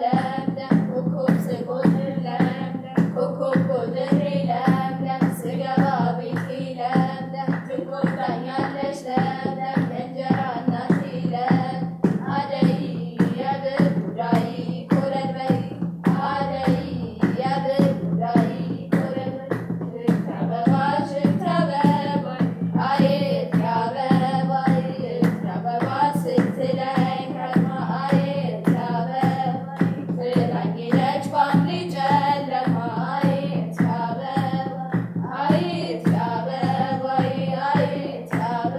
ለምለም ኮከብ ስቆጥር ለምለም ኮከብ ቆጥሬ ለምለም ስገባ ቤቴ ለምለም ትቆጣኛለች ለምለም እንጀራ እናቴ ለምለም አደይ የብር ጉዳይ ኮለል በይ አደይ የብር ጉዳይ ኮለል በይ ሽታ አበባ ሽታ አበባ አየት አበባ አየት አበባ ስትለኝ ከርማ አየት አበባ ትላኝ ሄደች ባምሊ ጨለማ አየት አበባ አየት አበባ አየት አበባ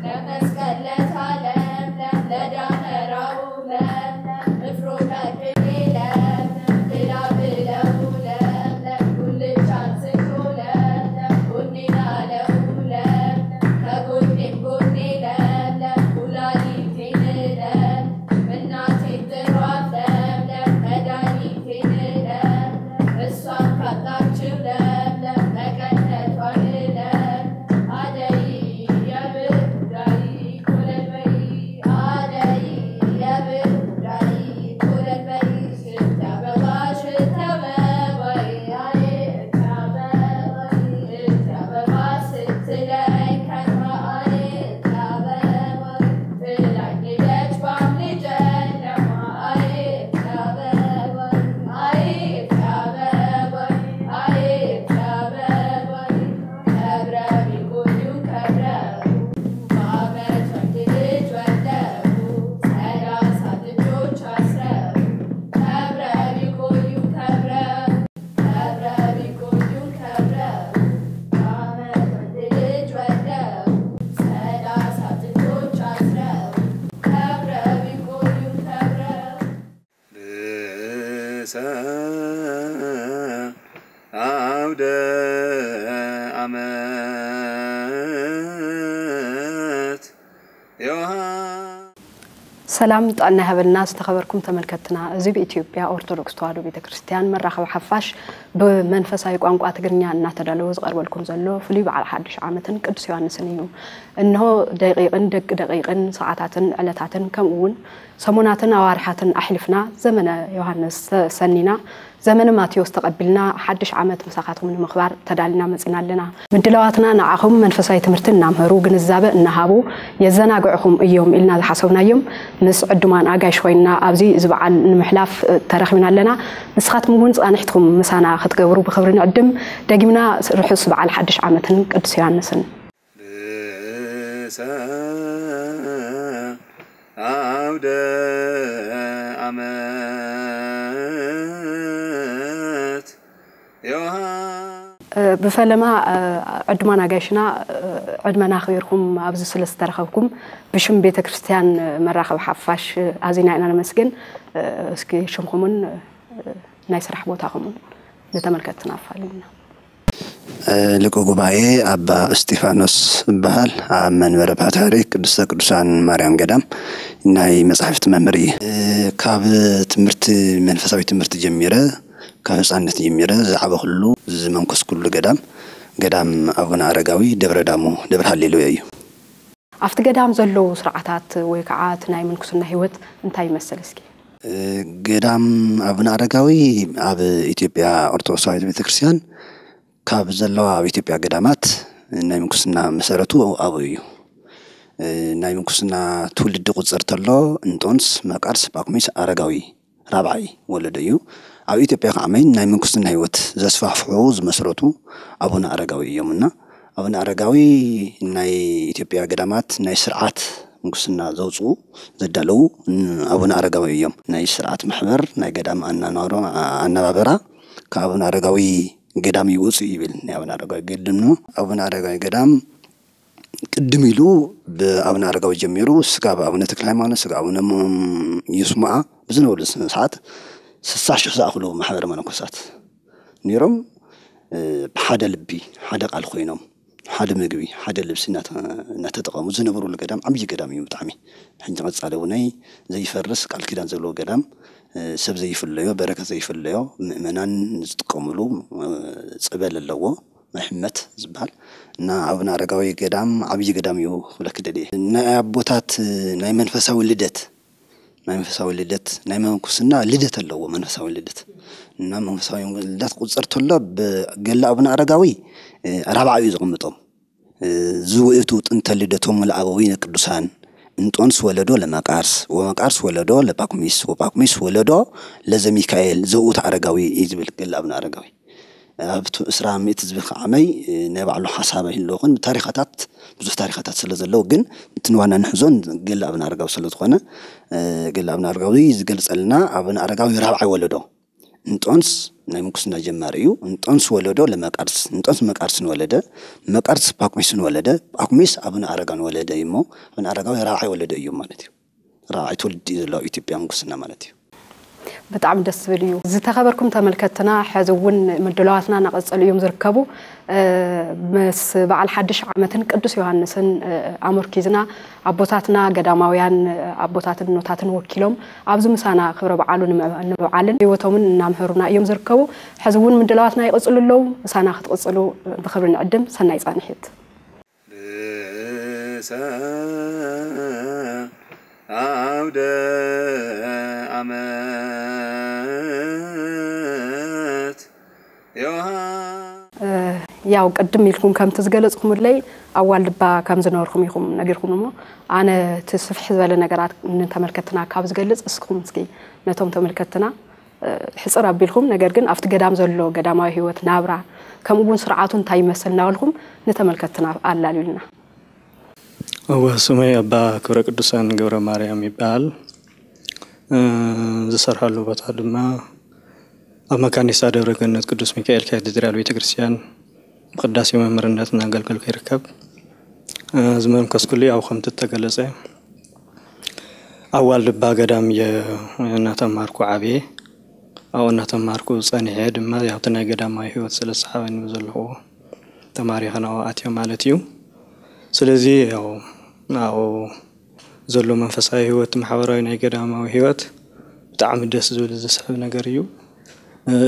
ለመስቀል ለታ ለምለም ለዳመራው ለምለም ንፍሮ ቀቅሌ ለምለም ብላ ብለው ለምለም ጉልቻ አንስቶ ለምለም ጎኔ ላለው ለምለም ከጎኔም ጎኔ ለምለም ኩላሊቴን ለምለም እናቴን ጥሯት ለምለም መድኃኒቴን ለምለም እሷን ካጣችው ለምለም መቀነቷን ለምለም አደይ የብር ጉዳይ ኮለል በይ አደይ የብር ጉዳይ ኮለል በይ ሽታ አበባ ሽታ አበባዬ አየት አበባዬ ሽታ አበባ ስትለኝ ከርማ አየት አበባዬ ትላኝ ሄደች ባምሊ ጨለማ አየት አበባዬ አየት አበባዬ አየት አበባዬ ከብረው ቢቆዩ ከብረው በአመት ወንድ ልጅ ወልደው ሠላሳ ጥጆች አስረው ከብረው ቢቆዩ ከብረው ከብረው ቢቆዩ ከብረው በአመት ወንድ ልጅ ወልደው ሠላሳ ጥጆች አስረው ከብረው ቢቆዩ ከብረው ርእሰ አውደ ዓመት ዮሐ ሰላም ጥዕና ይሃበልና ዝተኸበርኩም ተመልከትና። እዚ ብኢትዮጵያ ኦርቶዶክስ ተዋህዶ ቤተ ክርስቲያን መራኸቢ ሓፋሽ ብመንፈሳዊ ቋንቋ ትግርኛ እናተዳለወ ዝቐርበልኩም ዘሎ ፍሉይ በዓል ሓድሽ ዓመትን ቅዱስ ዮሃንስን እዩ። እንሆ ደቂቕን ደቂ ደቂቕን ሰዓታትን ዕለታትን ከምኡ እውን ሰሙናትን ኣዋርሓትን ኣሕሊፍና ዘመነ ዮሃንስ ሰኒና ዘመነ ማቴዎስ ተቐቢልና ሓድሽ ዓመት ምሳኻትኩም ንምኽባር ተዳሊና መፂና ኣለና። ምድላዋትና ንዓኹም መንፈሳዊ ትምህርቲ እናምሀሩ ግንዛበ እናሃቡ የዘናግዕኹም እዮም ኢልና ዝሓሰብናዮም ምስ ዕዱማን ኣጋይሽ ኮይንና ኣብዚ እዚ በዓል ንምሕላፍ ተረኺብና ኣለና። ንስኻትኩም እውን ፃንሒትኩም ምሳና ክትገብሩ ብኽብሪ ንዕድም። ደጊምና ርሑስ በዓል ሓድሽ ዓመትን ቅዱስ ዮሃንስን። ርእሰ አውደ ዓመት ዮሐ ብፈለማ ዕዱማን ኣጋይሽና ዕድመና ኣኽቢርኩም ኣብዚ ስለ ዝተረኸብኩም ብሽም ቤተ ክርስቲያን መራኸቢ ሓፋሽ ኣዚና ኢና ነመስግን። እስኪ ሽምኹምን ናይ ስራሕ ቦታኹምን ንተመልከትትና ኣፋልዩና። ሊቀ ጉባኤ ኣባ እስጢፋኖስ እበሃል። ኣብ መንበረ ፓትርያርክ ቅድስተ ቅዱሳን ማርያም ገዳም ናይ መጻሕፍቲ መምህር እየ። ካብ ትምህርቲ መንፈሳዊ ትምህርቲ ጀሚረ ካብ ህፃንነት ጀሚረ ዝዓበኹሉ ዝመንኮስኩሉ ገዳም ገዳም ኣቡነ ኣረጋዊ ደብረ ዳሞ ደብረ ሃሌሉያ እዩ። ኣብቲ ገዳም ዘለዉ ስርዓታት ወይ ከዓ እቲ ናይ ምንኩስና ህይወት እንታይ ይመስል እስኪ? ገዳም ኣቡነ ኣረጋዊ ኣብ ኢትዮጵያ ኦርቶዶክስ ተዋህዶ ቤተክርስትያን ካብ ዘለዋ ኣብ ኢትዮጵያ ገዳማት ናይ ምንኩስና መሰረቱ ኣብኡ እዩ። ናይ ምንኩስና ትውልዲ ቁፅር ተሎ እንጦንስ፣ መቃርስ፣ ጳኩሚስ፣ ኣረጋዊ ራብዓይ ወለዶ እዩ። ኣብ ኢትዮጵያ ከዓ መይን ናይ ምንኩስና ህይወት ዘስፋሕፍሑ ዝመስረቱ ኣቡነ ኣረጋዊ እዮም እና ኣቡነ ኣረጋዊ ናይ ኢትዮጵያ ገዳማት ናይ ስርዓት ምንኩስና ዘውፅኡ ዘዳለዉ ኣቡነ ኣረጋዊ እዮም። ናይ ስርዓት ማሕበር ናይ ገዳም ኣናናሮ ኣነባበራ ካብ ኣቡነ ኣረጋዊ ገዳም ይወፁ ይብል። ናይ ኣቡነ ኣረጋዊ ገድልም ኣቡነ ኣረጋዊ ገዳም ቅድም ኢሉ ብኣቡነ ኣረጋዊ ጀሚሩ ስጋብ ኣቡነ ተክለ ሃይማኖት ስጋብ ኣቡነ ይስሙዓ ብዝነበሩ ሰዓት ስሳ ሽሕ ዝኣኽሉ ማሕበረ መነኮሳት ነይሮም። ብሓደ ልቢ ሓደ ቃል ኮይኖም ሓደ ምግቢ ሓደ ልብሲ እናተጠቐሙ ዝነበሩሉ ገዳም ዓብዪ ገዳም እዩ። ብጣዕሚ ሕጂ ቀፃሊ እውነይ ዘይፈርስ ቃል ኪዳን ዘለዎ ገዳም ሰብ ዘይፍለዮ በረከት ዘይፍለዮ ምእመናን ዝጥቀምሉ ፀበል ኣለዎ። ናይ ሕመት ዝበሃል እና ኣቡነ ኣረጋዊ ገዳም ዓብዪ ገዳም እዩ ክብለኪ ደልየ። ናይ ኣቦታት ናይ መንፈሳዊ ልደት ናይ መንፈሳዊ ልደት፣ ናይ መንኩስና ልደት ኣለዎ። መንፈሳዊ ልደት እና መንፈሳዊ ልደት ቁፅር ተሎ ብገለ ኣቡነ ኣረጋዊ ራብዓ እዩ ዝቕምጦም። ዝውእቱ ጥንተ ልደቶም ለአበዊነ ቅዱሳን እንጦንስ ወለዶ ለመቃርስ ወመቃርስ ወለዶ ለጳኩሚስ ወጳኩሚስ ወለዶ ለዘሚካኤል ዘውእቱ አረጋዊ እዩ ዝብል ገለ ኣቡነ ኣረጋዊ። ኣብቲ እስራ ሚእቲ ዝብል ከዓ ዓመይ ናይ ባዕሉ ሓሳብ ኣይህልዎ ግን ታሪኻታት ብዙሕ ታሪኻታት ስለ ዘለዎ ግን እቲ ንዋና ንሕዞን ገለ ኣቡነ ኣረጋዊ ስለ ዝኾነ ገለ ኣቡነ ኣረጋዊ ዝገልፀልና ኣቡነ ኣረጋዊ ራብዓይ ወለዶ እንጦንስ ናይ ምንኩስና ጀማሪ እዩ። እንጦንስ ወለዶ ለመቃርስ እንጦንስ መቃርስን ወለደ መቃርስ ጳኩሚስን ወለደ ጳኩሚስ ኣቡነ ኣረጋን ወለደ እዩ እሞ ኣቡነ ኣረጋዊ ራብዓይ ወለዶ እዩ ማለት እዩ። ራብዓይ ትውልዲ እዩ ዘሎ ኢትዮጵያ ምንኩስና ማለት እዩ። ብጣዕሚ ደስ ዝብል እዩ። ዝተኸበርኩም ተመልከትና ሕዚ እውን ምድላዋትና እናቐጸሉ እዮም ዝርከቡ። ምስ በዓል ሓድሽ ዓመትን ቅዱስ ዮሃንስን ኣመርኪዝና ኣቦታትና ገዳማውያን ኣቦታትን ኖታትን ወኪሎም ኣብዚ ምሳና ክብረ በዓሉ ንምብዓልን ህይወቶምን እናምሀሩና እዮም ዝርከቡ። ሕዚ እውን ምድላዋትና ይቕፅሉ ኣለዉ። ምሳና ክትቕፅሉ ብክብሪ ንዕድም። ሰናይ ፃንሒት። ርእሰ አውደ ዓመት ዮሃ ያው ቅድም ኢልኩም ከምቲ ዝገለጽኩምለይ ኣብ ዋልድባ ከም ዝነበርኩም ኢኹም ነጊርኩም እሞ ኣነ እቲ ስፍሕ ዝበለ ነገራት ንተመልከትና ካብ ዝገልጽ እስኹም እስኪ ነቶም ተመልከትና ሕጽር ኣቢልኩም ነገር ግን ኣብቲ ገዳም ዘሎ ገዳማዊ ህይወት ናብራ ከምኡ እውን ስርዓቱ እንታይ ይመስል እናበልኩም ንተመልከትና ኣላልዩልና። እወ፣ ስመይ ኣባ ክብረ ቅዱሳን ገብረ ማርያም ይበሃል። ዝሰርሐሉ ቦታ ድማ ኣብ መካኒሳ ደብረ ገነት ቅዱስ ሚካኤል ካቴድራል ቤተ ክርስቲያን ብቅዳሴ መምህርነት እናገልገልኩ ይርከብ። ዝመንከስኩሉ ያው ከምቲ እተገለጸ ኣብ ዋልድባ ገዳም እየ እናተማርኩ ዓብየ። ኣብኡ እናተማርኩ ጸኒሐ ድማ ያው እቲ ናይ ገዳማዊ ህይወት ስለ ዝሰሓበኒ ብዘለኹዎ ተማሪኸ ናብኡ ኣትዮ ማለት እዩ። ስለዚ ያው ናብኡ ዘሎ መንፈሳዊ ህይወት ማሕበራዊ ናይ ገዳማዊ ህይወት ብጣዕሚ ደስ ዝብል ዝስሕብ ነገር እዩ።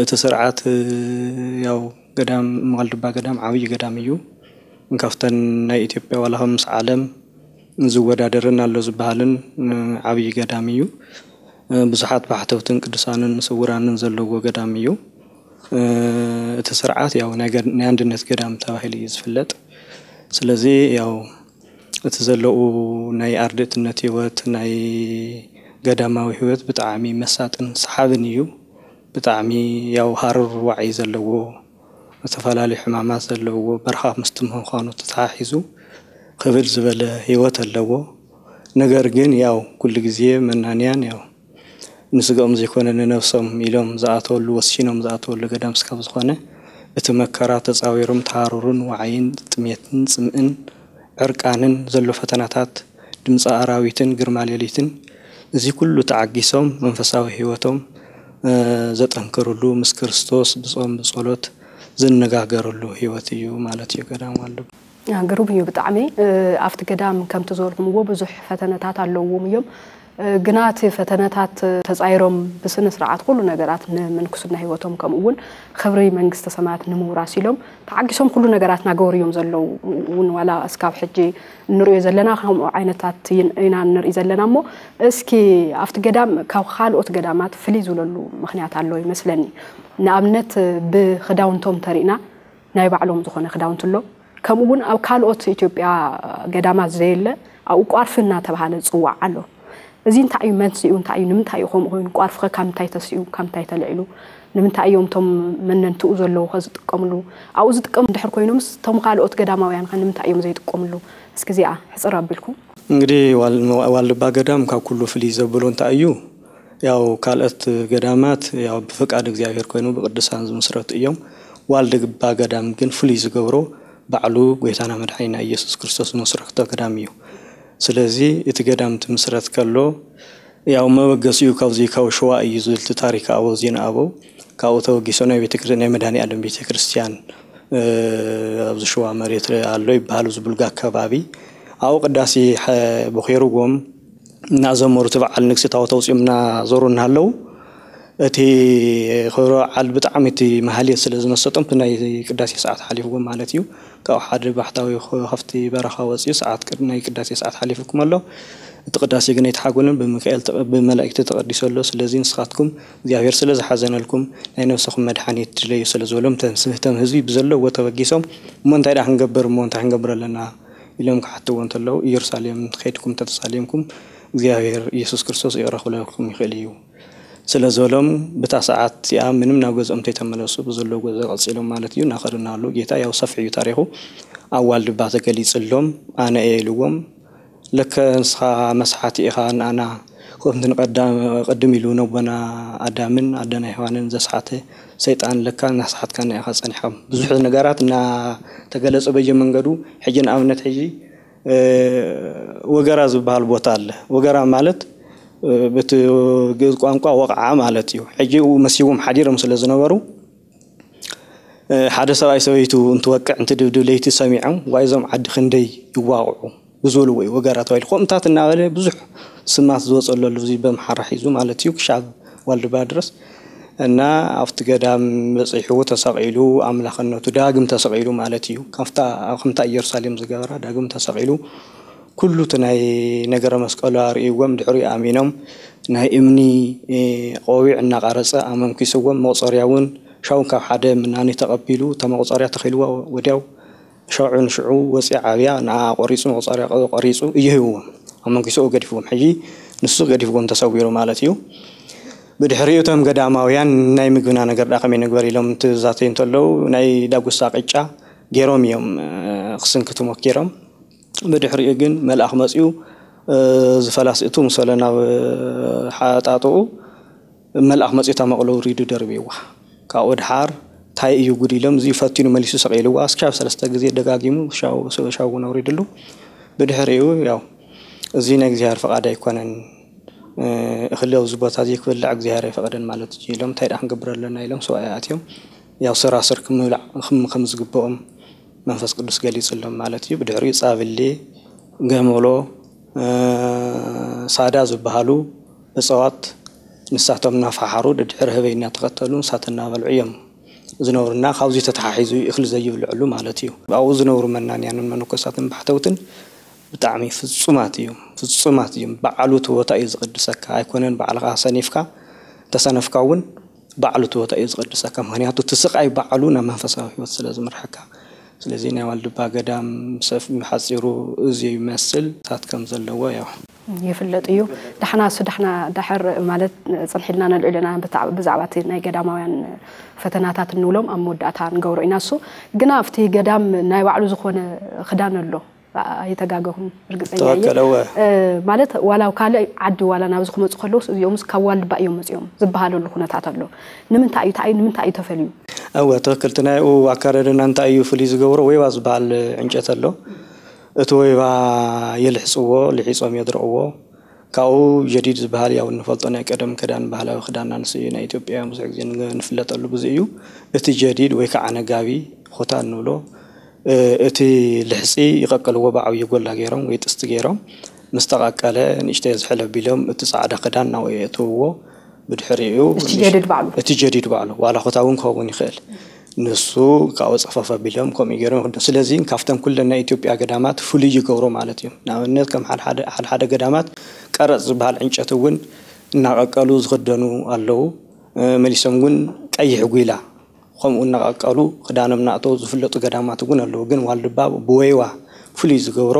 እቲ ስርዓት ያው ገዳም ዋልድባ ገዳም ዓብዪ ገዳም እዩ። ካብተን ናይ ኢትዮጵያ ዋላ ከም ምስ ዓለም ዝወዳደርን ኣሎ ዝበሃልን ዓብዪ ገዳም እዩ። ብዙሓት ባሕተውትን ቅዱሳንን ስውራንን ዘለዎ ገዳም እዩ። እቲ ስርዓት ያው ናይ ገድ- ናይ ኣንድነት ገዳም ተባሂሉ እዩ ዝፍለጥ። ስለዚ ያው እቲ ዘለዉ ናይ ኣርድእትነት ህይወት ናይ ገዳማዊ ህይወት ብጣዕሚ መሳጥን ሰሓብን እዩ። ብጣዕሚ ያው ሃሩር ዋዒ ዘለዎ ዝተፈላለዩ ሕማማት ዘለዎ በረኻ ምስቲ ምዃኑ ተተሓሒዙ ክብድ ዝበለ ህይወት ኣለዎ። ነገር ግን ያው ኩሉ ግዜ መናንያን ያው ንስጋኦም ዘይኮነ ንነብሶም ኢሎም ዝኣተወሉ ወሲኖም ዝኣተወሉ ገዳም ስካብ ዝኾነ እቲ መከራ ተፃዊሮም ተሃሩሩን ዋዓይን ጥሜትን ፅምእን ዕርቃንን ዘሎ ፈተናታት ድምፂ ኣራዊትን ግርማ ሌሊትን እዚ ኩሉ ተዓጊሶም መንፈሳዊ ህይወቶም ዘጠንክርሉ ምስ ክርስቶስ ብፆም ብፀሎት ዝነጋገርሉ ህይወት እዩ ማለት እዩ ገዳም ዋልድባ። ግሩም እዩ ብጣዕሚ ኣብቲ ገዳም ከምቲ ዝበልኩምዎ ብዙሕ ፈተነታት ኣለውዎም እዮም ግና እቲ ፈተነታት ተፃይሮም ብስነ ስርዓት ኩሉ ነገራት ንምንኩስና ህይወቶም ከምኡ እውን ክብሪ መንግስተ ሰማያት ንምውራስ ኢሎም ተዓጊሶም ኩሉ ነገራት ናገበሩ እዮም ዘለዉ እውን ዋላ እስካብ ሕጂ እንሪኦ ዘለና ከምኡ ዓይነታት ኢና ንርኢ ዘለና እሞ እስኪ ኣብቲ ገዳም ካብ ካልኦት ገዳማት ፍልይ ዝብለሉ ምክንያት ኣሎ ይመስለኒ ንኣብነት ብክዳውንቶም ተሪእና ናይ ባዕሎም ዝኾነ ክዳውንቲ ኣሎ። ከምኡ እውን ኣብ ካልኦት ኢትዮጵያ ገዳማት ዘየለ ኣብኡ ቋርፊ እናተባሃለ ዝፅዋዕ ኣሎ። እዚ እንታይ እዩ መንስኡ እንታይ እዩ ንምንታይ እዩ ከምኡ ኮይኑ ቋርፊ ከ ካብ ምንታይ ተሲኡ ካብ ምንታይ ተልዒሉ ንምንታይ እዮም እቶም መነንትኡ ዘለዉ ከ ዝጥቀምሉ ኣብኡ ዝጥቀሙ እንድሕር ኮይኖምስ እቶም ካልኦት ገዳማውያን ከ ንምንታይ እዮም ዘይጥቀምሉ እስኪ እዚኣ ሕፅር ኣቢልኩም እንግዲህ ዋልድባ ገዳም ካብ ኩሉ ፍልይ ዘብሎ እንታይ እዩ ያው ካልኦት ገዳማት ያው ብፍቃድ እግዚኣብሔር ኮይኑ ብቅዱሳን ዝምስረቱ እዮም። ዋልድባ ገዳም ግን ፍሉይ ዝገብሮ ባዕሉ ጎይታና መድሓኒና ኢየሱስ ክርስቶስ ዝመስረቶ ገዳም እዩ። ስለዚ እቲ ገዳም እንትምስረት ከሎ ያው መበገሲኡ ካብዚ ካብ ሸዋ እዩ ዝብል እቲ ታሪክ ኣበው ዜና ኣበው ካብኡ ተበጊሶ ናይ ቤተክርስትያን ናይ መድሃኒኣለም ቤተክርስትያን ኣብዚ ሸዋ መሬት ኣሎ ይበሃል ዝብልጋ ከባቢ ኣብኡ ቅዳሴ ቦኼርዎም እናዘመሩ እቲ በዓል ንግሲ ታቦት ኣውፂኦም እናዞሩ እናሃለዉ እቲ ክብረ በዓል ብጣዕሚ እቲ ማህሌት ስለ ዝመሰጦም እቲ ናይ ቅዳሴ ሰዓት ሓሊፍዎም ማለት እዩ። ካብኡ ሓደ ባሕታዊ ካብቲ በረኻ ወፂኡ ሰዓት ናይ ቅዳሴ ሰዓት ሓሊፍኩም ኣሎ እቲ ቅዳሴ ግን ኣይተሓጎለን፣ ብሚካኤል ተቐ-፣ ብመላእክቲ ተቐዲሱ ኣሎ። ስለዚ ንስኻትኩም እግዚኣብሔር ስለ ዝሓዘነልኩም ናይ ነፍስኹም መድሓኒት ድለዩ ስለ ዝበሎም፣ ተም-፣ ተም ህዝቢ ብዘለዎ ተበጊሶም፣ "እሞ እንታይ ደኣ ክንገብር፣ እሞ እንታይ ክንገብር ኣለና?" ኢሎም ክሓትዎ እንተለዉ፣ "ኢየሩሳሌም ከይድኩም ተተሳሌምኩም እግዚኣብሔር ኢየሱስ ክርስቶስ ይቕረ ክብለልኩም ይኽእል እዩ" ስለ ዝበሎም፣ ብታ ሰዓት እቲኣ ምንም ናብ ገዝኦም እንተይተመለሱ ብዘለዎ ገዛ ቀጺሎም ማለት እዩ። እናኸዱ እናሃለዉ ጌታ ያው ሰፊሕ እዩ ታሪኹ። ኣብ ዋልድባ ተገሊጽሎም፣ ኣነ እየ ኢልዎም። ለከ ንስኻ መስሓቲ ኢኻ፣ ንኣና ከምቲ ንቀዳም ቅድም ኢሉ ነቦና ኣዳምን ኣደና ሔዋንን ዘስሓተ ሰይጣን ለካ እናሰሓትካና ኢኻ ጸኒሕካ። ብዙሕ ነገራት እናተገለጸ በየመንገዱ፣ ሕጂ ንኣብነት ሕጂ፣ እ፣ ወገራ ዝበሃል ቦታ ኣለ። ወገራ ማለት፣ እ፣ በቲ ግእዝ ቋንቋ ወቕዓ ማለት እዩ። ሕጂ መሲዎም ሓዲሮም ስለ ዝነበሩ፣ እ፣ ሓደ ሰብኣይ ሰበይቱ እንትወቅዕ፣ እንትድብድብ ለይቲ ሰሚዖም፣ "ዋይ እዞም ዓዲ ክንደይ ይዋቕዑ" ብዝበልዎ እዩ ወገራ ተባሂሉ። ከምኡታት እናበለ ብዙሕ ስማት ዝወጸሉ ኣሎ፣ እዚ በምሓራ ሒዙ ማለት እዩ፣ ክሻብ ዋልድባ ድረስ። እና ኣብቲ ገዳም በጺሑ ተሰቒሉ፣ ኣምላኽነቱ ዳግም ተሰቒሉ ማለት እዩ። ካብታ፣ ከምታ ኢየሩሳሌም ዝገበራ ዳግም ተሰቒሉ፣ ኩሉ እቲ ናይ ነገረ መስቀሉ ኣርእይዎም፣ ድሕሪኡ ኣሚኖም፣ ናይ እምኒ፣ እ፣ ቆቢዕ እናቐረጸ ኣመንኪስዎም፣ መቑጸርያ እውን ሻው ካብ ሓደ ምናኒ ተቐቢሉ፣ እታ መቑጸርያ ተኺልዋ ወዲያው ሻው ንሽዑ ወፂኣ ዓብያ፣ ንዓ ቆሪፁ፣ መቑፀርያ ቆ-፣ ቆሪፁ እዩ ሂብዎም። ኣመንኪስኡ ገዲፍዎም። ሕጂ ንሱ ገዲፍዎም ተሰዊሩ ማለት እዩ። ብድሕሪኡ እቶም ገዳማውያን ናይ ምግብና ነገር ደኣ ከመይ ንግበር ኢሎም ትዛተዩ እንተለዉ፣ ናይ ዳጉሳ ቅጫ ገይሮም እዮም፣ እ፣ ክስንክቱ ሞኪሮም። ብድሕሪኡ ግን መልኣኽ መፂኡ፣ እ፣ ዝፈላስ እቱ ምስ በለ ናብ ሓጣጥኡ፣ መልኣኽ መፂኡ እታ መቕሎ ውሪዱ ደርብይዋ። ካብኡ ድሓር እንታይ እዩ ጉድ ኢሎም፣ እዚ ፈቲኑ መሊሱ ሰቒልዋ። እስካብ ሰለስተ ግዜ ደጋጊሙ ሻው-፣ ሻው እውን ኣውሪድሉ። ብድሕሪኡ ያው እዚ ናይ እግዚኣብሔር ፍቓድ ኣይኮነን፣ እ፣ እኽሊ ኣብዚ ቦታ እዚ ክብላዕ እግዚኣብሔር ኣይፈቐደን ማለት እዩ ኢሎም፣ እንታይ ደኣ ክንገብር ኣለና ኢሎም ሰብኣይ ኣትዮም። ያው ስራስር ክምብላዕ ክም-፣ ከም ዝግብኦም መንፈስ ቅዱስ ገሊጽሎም ማለት እዩ። ብድሕሪኡ ጻብሊ፣ ገመሎ፣ እ፣ ሳዳ ዝበሃሉ እጽዋት ንሳቶም እናፈሓሩ ደድሕሪ ህበይ እናተኸተሉ ንሳት እናበልዑ እዮም ዝነብሩና። ካብዚ ተተሓሒዙ እዩ እኽሊ ዘይብልዕሉ ማለት እዩ። ኣብኡ ዝነብሩ መናንያንን መነኮሳትን ባሕተውትን ብጣዕሚ ፍጹማት እዮም፣ ፍጹማት እዮም። በዓሉ እቲ ቦታ እዩ ዝቕድሰካ፣ ኣይኮነን ባዕልኻ ሰኒፍካ፣ ተሰነፍካ እውን ባዕሉ እቲ ቦታ እዩ ዝቕድሰካ። ምኽንያቱ እቲ ስቓይ ባዕሉ ናብ መንፈሳዊ ህይወት ስለ ዝመርሐካ። ስለዚ ናይ ዋልድባ ገዳም ሰፍ-፣ ሓጺሩ እዚ ይመስል፣ ታት ከም ዘለዎ ያው። ይፍለጥ እዩ። ዳሕና እሱ ዳሕና ዳሕር ማለት ጽንሕ ኢልና ነልዕልና ብታ-፣ ብዛዕባ እቲ ናይ ገዳማውያን ፈተናታት እንብሎም ኣብ መወዳእታ ንገብሮ ኢና። እሱ ግና ኣብቲ ገዳም ናይ ባዕሉ ዝኾነ ክዳን ኣሎ። ኣይተጋገኹን፣ ርግጸኛ እየ። ተወከለ፣ እወ። እ፣ ማለት ዋላ ኣብ ካልእ ዓዲ ዋላ ናብዚ ክመጹ ከለውስ እዚኦምስ ካብ ዋልድባ እዮም መጺኦም ዝበሃለሉ ኩነታት ኣሎ። ንምንታይ እዩ፣ እንታይ እዩ፣ ንምንታይ እዩ ተፈልዩ? እወ፣ ትኽክል። እቲ ናይኡ ኣካዳድና እንታይ እዩ ፍሉይ ዝገብሮ? ወይባ ዝበሃል ዕንጨት ኣሎ። እቲ ወይባ የልሕጽዎ፣ ልሒጾም የድርቕዎ። ካብኡ ጀዲድ ዝበሃል ያው እንፈልጦ ናይ ቀደም ክዳን፣ ባህላዊ ክዳንና ንሱ እዩ። ናይ ኢትዮጵያውያን ብዙሕ ግዜ ንገ-፣ ንፍለጠሉ ብዙ እዩ። እቲ ጀዲድ ወይ ከዓ ነጋቢ፣ ኹታ እንብሎ፣ እ፣ እቲ ልሕጺ ይቐቅልዎ ብዓብዪ ጎላ ገይሮም ወይ ጥስቲ ገይሮም። ምስ ተቐቀለ ንእሽተይ ዝሕል ኣቢሎም እቲ ጻዕዳ ክዳን ናብኡ የእትውዎ። ብድሕሪኡ እቲ ጀዲድ ባዕሉ? እቲ ጀዲድ ባዕሉ፣ ዋላ ኹታ እውን ክኸውን ይኽእል። ንሱ ካብኡ ጸፈፍ ኣቢሎም ከምኡ ገይሮም ይኽደኑ። ስለዚ ካብተን ኩለን ናይ ኢትዮጵያ ገዳማት ፍሉይ ይገብሮ ማለት እዩ። ንኣብነት ከም ሓደ ሓደ፣ ሓደ ሓደ ገዳማት ቀረጽ ዝበሃል ዕንጨት እውን እናቐቀሉ ዝኽደኑ ኣለዉ። እ፣ መሊሶም እውን ቀይሕ ጒላ ከምኡ እናቐቀሉ ክዳኖም እናእተዉ ዝፍለጡ ገዳማት እውን ኣለዉ። ግን ዋልድባ ብወይዋ ፍሉይ ዝገብሮ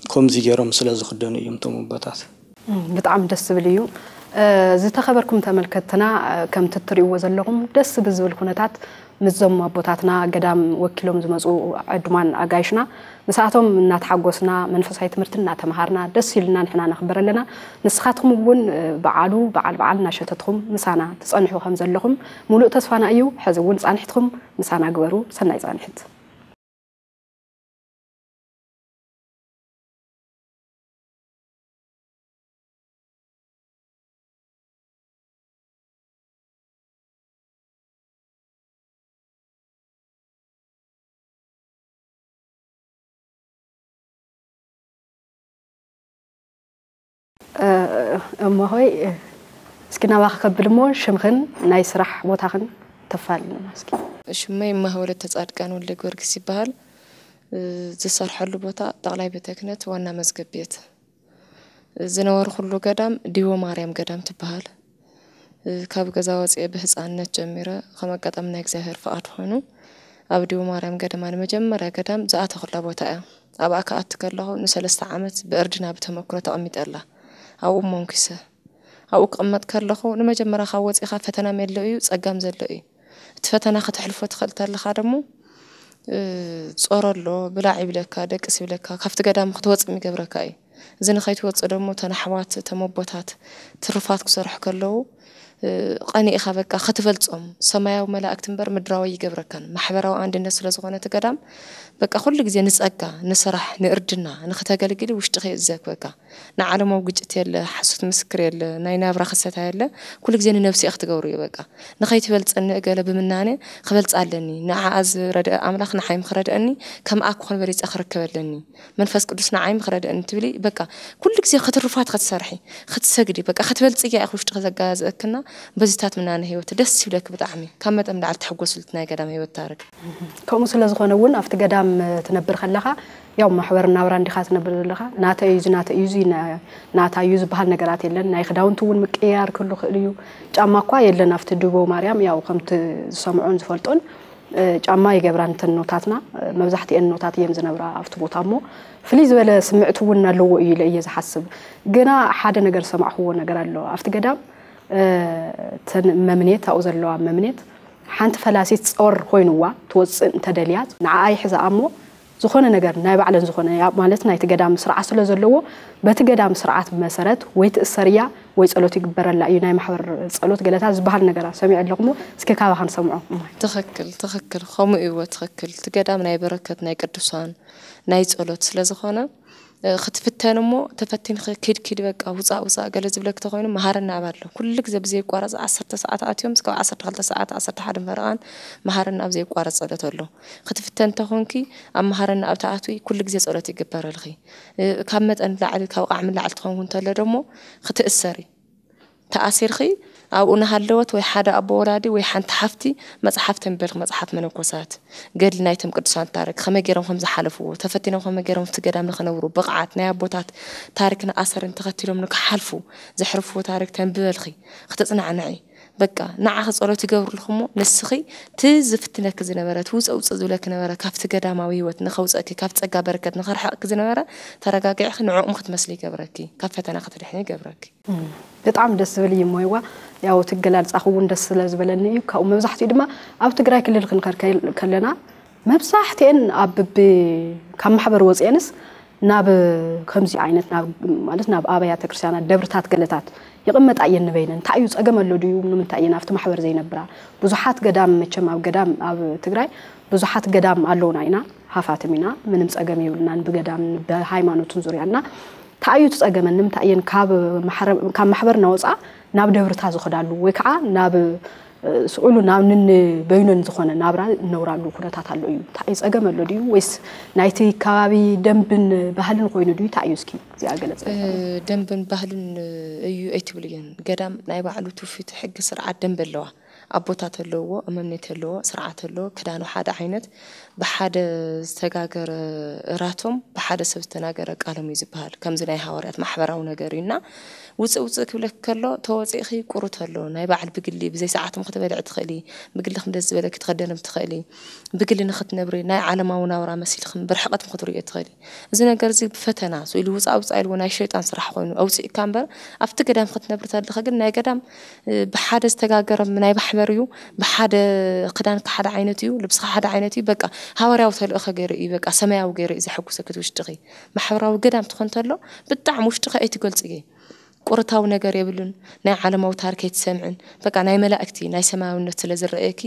ከምዚ ገይሮም ስለ ዝኽደኑ እዮም እቶም ኣቦታት። እም፣ ብጣዕሚ ደስ ዝብል እዩ። እ፣ ዝተኸበርኩም ተመልከትትና፣ እ፣ ከምቲ እትርእይዎ ዘለኹም ደስ ብዝብል ኩነታት ምስዞም ኣቦታትና ገዳም ወኪሎም ዝመጹ ዕዱማን ኣጋይሽና፣ ምስኣቶም እናተሓጎስና፣ መንፈሳዊ ትምህርቲ እናተምሃርና፣ ደስ ኢሉና ንሕና ነኽብር ኣለና። ንስኻትኩም እውን፣ እ፣ በዓሉ በዓል በዓል እናሸተትኩም ምሳና ትጸንሑ ከም ዘለኹም ሙሉእ ተስፋና እዩ። ሕዚ እውን ጻንሒትኩም ምሳና ግበሩ። ሰናይ ጻንሒት። እ፣ እሞ ሆይ፣ እ፣ እስኪ ናባኺ ከብል እሞ ሽምኽን ናይ ስራሕ ቦታኽን ተፋልልና እስኪ። ሽመይ እማሆይ ወለተ ጻድቃን ወልደ ጊዮርጊስ ይበሃል። እ፣ ዝሰርሐሉ ቦታ ጠቕላይ ቤተ ክህነት ዋና መዝገብ ቤት። ዝነበርኩሉ ገዳም ዲቦ ማርያም ገዳም ትበሃል። ካብ ገዛ ወፅኤ ብህፃንነት ጀሚረ ከም ኣጋጣሚ ናይ እግዚኣብሔር ፍቓድ ኮይኑ ኣብ ዲቦ ማርያም ገዳማ ንመጀመርያ ገዳም ዝኣተኹላ ቦታ እያ። ኣብኣ ክኣቱ ከለኹ ንሰለስተ ዓመት ብእርድና ብተመክሮ ተቐሚጠላ ኣብኡ ሞንኪሰ ኣብኡ ክቕመጥ ከለኹ ንመጀመርያ ካብ ወፂኻ ፈተና ሜሎ እዩ፣ ፀጋም ዘሎ እዩ። እቲ ፈተና ከተሕልፎ ትኽእል ተለኻ ደሞ ጾሮ ኣሎ፣ ብላዕ ይብለካ፣ ደቅስ ይብለካ፣ ካብቲ ገዳም ክትወፅእ ይገብረካ እዩ። እዚ ንኸይትወፅእ ደሞ እተን ኣሕዋት እቶም ኣቦታት ትርፋት ክሰርሑ ከለዉ ቀኒእኻ በቃ ክትበልፆም ሰማያዊ መላእክቲ እምበር ምድራዊ ይገብረካን። ማሕበራዊ ኣንድነት ስለዝኾነ እቲ ገዳም በቃ ኩሉ ግዜ ንፀጋ፣ ንስራሕ፣ ንእርድና ንክተገልግሊ ውሽጥኺ እዩ ዘክበካ። ንዓለማዊ ግጭት የለ፣ ሓሶት ምስክር የለ፣ ናይ ናብራ ክሰታ የለ። ኩሉ ግዜ ንነብሲ እያ ክትገብሩ እዩ በቃ። ንኸይትበልፀኒ እገለ ብምናነ ክበልፃ ኣለኒ። ንዓኣ ዝረድአ ኣምላኽ ንዓይ ምኽረድአኒ ከምኣ ክኾን በሊፀ ክርከብ ኣለኒ። መንፈስ ቅዱስ ንዓይ ምኽረድአኒ ትብሊ በቃ። ኩሉ ግዜ ክትርፋት ክትሰርሒ ክትሰግዲ በቃ ክትበልፅያ ኢኺ ውሽጥኺ ዘጋዝእክና። በዚታት ምናነ ህይወት ደስ ይብለክ ብጣዕሚ ካብ መጠን ላዕሊ ትሕጎስልት ናይ ገዳም ህይወት ታርክ። ከምኡ ስለ ዝኾነ እውን ኣብቲ ገዳም ትነብር ከለኻ ያው ማሕበር ናብራ እንዲኻ ትነብር ዘለኻ ናተ እዩ እዚ ናተ እዩ እዚ ናታ እዩ ዝበሃል ነገራት የለን። ናይ ክዳውንቲ እውን ምቅያር ክህሉ ክእል እዩ። ጫማ እኳ የለን ኣብቲ ድቦ ማርያም ያው ከምቲ ዝሰምዖን ዝፈልጦን ጫማ ይገብራ እንተን ኖታትና መብዛሕትኤን ኖታት እየን ዝነብራ ኣብቲ ቦታ እሞ ፍልይ ዝበለ ስምዕቲ እውን ኣለዎ እዩ ኢለ እየ ዝሓስብ። ግና ሓደ ነገር ዝሰማዕክዎ ነገር ኣሎ ኣብቲ ገዳም እተን መምኔት ኣብኡ ዘለዋ መምኔት ሓንቲ ፈላሲት ጾር ኮይንዋ ትወፅእ እንተደልያት ንዓኣ ይሕዛ እሞ ዝኾነ ነገር ናይ ባዕለን ዝኾነ ማለት ናይቲ ገዳም ስርዓት ስለ ዘለዎ በቲ ገዳም ስርዓት መሰረት ወይ ትእሰር እያ ወይ ጸሎት ይግበረላ እዩ። ናይ ማሕበር ጸሎት ገለታት ዝበሃል ነገራት ሰሚዐ ኣለኹሞ እስኪ ካባኻ ንሰምዖ። እማይ። ትኽክል ትኽክል ከምኡ እዎ ትኽክል እቲ ገዳም ናይ በረከት ናይ ቅዱሳን ናይ ጸሎት ስለ ዝኾነ ክትፍተን እሞ ተፈቲንኺ ኪድ ኪድ በቃ ውፃእ ውፃእ ገለ ዝብለኪ ተኾይኑ መሃረና ኣብ ኣሎ ኩሉ ግዜ ብዘየቋረፅ ዓሰርተ ሰዓት ኣትዮም እስካብ ዓሰርተ ክልተ ሰዓት ዓሰርተ ሓደ ፈረቓን መሃረና ኣብ ዘየቋረፅ ጸሎት ኣሎ። ክትፍተን ተኾንኪ ኣብ መሃረና ኣብ ተኣትዊ ኩሉ ግዜ ጸሎት ይግበረልኺ። ካብ መጠን ላዕሊ ካብ ቃዕሚ ላዕሊ ትኸውን እንተሎ ደሞ ክትእሰሪ ተኣሲርኺ ኣብኡ እናሃለወት ወይ ሓደ ኣቦ ወላዲ ወይ ሓንቲ ሓፍቲ መፅሓፍ ተንበልክ መፅሓፍ መነኮሳት ገድሊ ናይቶም ቅዱሳን ታሪክ ከመይ ገይሮም ከም ዝሓለፍዎ ተፈቲኖም ከመይ ገይሮም እቲ ገዳም ንክነብሩ ብቕዓት ናይ ኣቦታት ታሪክን ኣሰርን ተኸቲሎም ንክሓልፉ ዘሕርፍዎ ታሪክ ተንብበልኺ ክትፅናዕንዒ በቃ ንዓኺ ፀሎት ይገብርልኹሞ ንስኺ እቲ ዝፍትነኪ ዝነበረ እቲ ውፀ ውፀ ዝብለኪ ነበረ ካብቲ ገዳማዊ ህይወት ንኸውፀእኪ ካብ ፀጋ በረከት ንኸርሕቕኪ ዝነበረ ተረጋጊዕኺ ንዕኦም ክትመስሊ ይገብረኪ ካብ ፈተና ክትድሕኒ ይገብረኪ። ብጣዕሚ ደስ ዝብል እዩ እሞ ይዋ ያው እቲ ኣገላልፃኺ እውን ደስ ስለ ዝበለኒ እዩ ካብኡ መብዛሕትኡ ድማ ኣብ ትግራይ ክልል ክንከድ ከለና መብዛሕትኤን ኣብ ብቢ ካብ ማሕበር ወፅኤንስ ናብ ከምዚ ዓይነት ናብ ማለት ናብ ኣብያተ ክርስቲያናት ደብርታት ገለታት ይቕመጣ እየን ንበይነን እንታይ እዩ ፀገም ኣሎ ድዩ ንምንታይ እየን ኣብቲ ማሕበር ዘይነብራ ብዙሓት ገዳም መቸም ኣብ ገዳም ኣብ ትግራይ ብዙሓት ገዳም ኣለውና ኢና ሃፋትም ኢና ምንም ፀገም የብልናን ብገዳም ብሃይማኖትን ዙርያ እና እንታይ እዩ እቲ ፀገመን ንምንታይ እየን ካብ ማሕበር እናወፃ ናብ ደብርታ ዝኸዳሉ ወይ ከዓ ናብ ስዑሉ ናብ ንንበይነን ዝኾነ ናብራ እነብራሉ ኩነታት ኣሎ እዩ። እንታይ እዩ ፀገም ኣሎ ድዩ ወይስ ናይቲ ከባቢ ደንብን ባህልን ኮይኑ ድዩ እንታይ እዩ እስኪ እዚኣ ገለፀ። ደንብን ባህልን እዩ ኣይትብልየን ገዳም ናይ ባዕሉ ትውፊት ሕጊ ስርዓት ደንብ ኣለዋ። ኣቦታት ኣለዎ እመምኔት ኣለዎ ስርዓት ኣለዎ ክዳኑ ሓደ ዓይነት ብሓደ ዝተጋገረ እራቶም ብሓደ ሰብ ዝተናገረ ቃሎም እዩ ዝበሃል ከምዚ ናይ ሃዋርያት ማሕበራዊ ነገር እዩ እና ውፅእ ውፅእ ክብለክ ከሎ ተወፂእኺ ቁሩት ኣሎ ናይ ባዕል ብግሊ ብዘይ ሰዓትም ክትበልዕ ትኽእሊ ብግልኽም ደስ ዝበለኪ ትኸደንም ትኽእሊ ብግሊ ንኽትነብሪ ናይ ዓለማዊ ናብራ መሲልኽም ብርሕቐትም ክትርእዮ ትኽእሊ እዚ ነገር እዚ ብፈተና ስኢሉ ውፃእ ውፃእ ኢልዎ ናይ ሸይጣን ስራሕ ኮይኑ ኣውፅእካ እምበር ኣብቲ ገዳም ክትነብሪ ተለኸ ግን ናይ ገዳም ብሓደ ዝተጋገረ ናይ ማሕበር እዩ ብሓደ ክዳንካ ሓደ ዓይነት እዩ ልብስኻ ሓደ ዓይነት እዩ በቃ ሃዋርያዊ ተልእኸ ገይሩ እዩ በቃ ሰማያዊ ገይሩ እዩ ዘሐጉሰኪ እቲ ውሽጥኺ ማሕበራዊ ገዳም ትኾን ተሎ ብጣዕሚ ውሽጥኺ ኣይትገልፅዮ ቁርታዊ ነገር የብሉን ናይ ዓለማዊ ታሪክ ኣይትሰምዕን በቃ ናይ መላእክቲ ናይ ሰማያውነት ስለ ዝረኣየኪ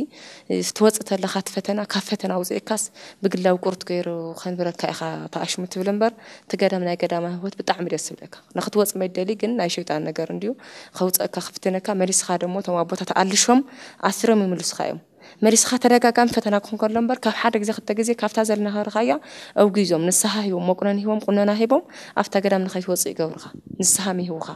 ትወፅእ ተለኻ እቲ ፈተና ካብ ፈተና ኣውፅእካስ ብግላዊ ቁርት ገይሩ ከንብረካ ኢኻ ተኣሽሙ ትብል እምበር እቲ ገዳም ናይ ገዳማዊ ህይወት ብጣዕሚ ደስ ዝብለካ ንክትወፅ መይደሊ ግን ናይ ሸይጣን ነገር እንድዩ ከውፀእካ ክፍትነካ መሊስኻ ደሞ እቶም ኣቦታት ኣልሾም ኣስሮም ይምልስኻ እዮም መሊስኻ ተደጋጋሚ ፈተና ክኾን ከሎ እምበር ካብ ሓደ ግዜ ክልተ ግዜ ካብታ ዘለናኸርኻያ ኣውጊዞም ንስሓ ሂቦም መቁነን ሂቦም ቁነና ሂቦም ኣብታ ገዳም ንኸይትወፅእ ይገብሩኻ ንስሓ ምሂቡኻ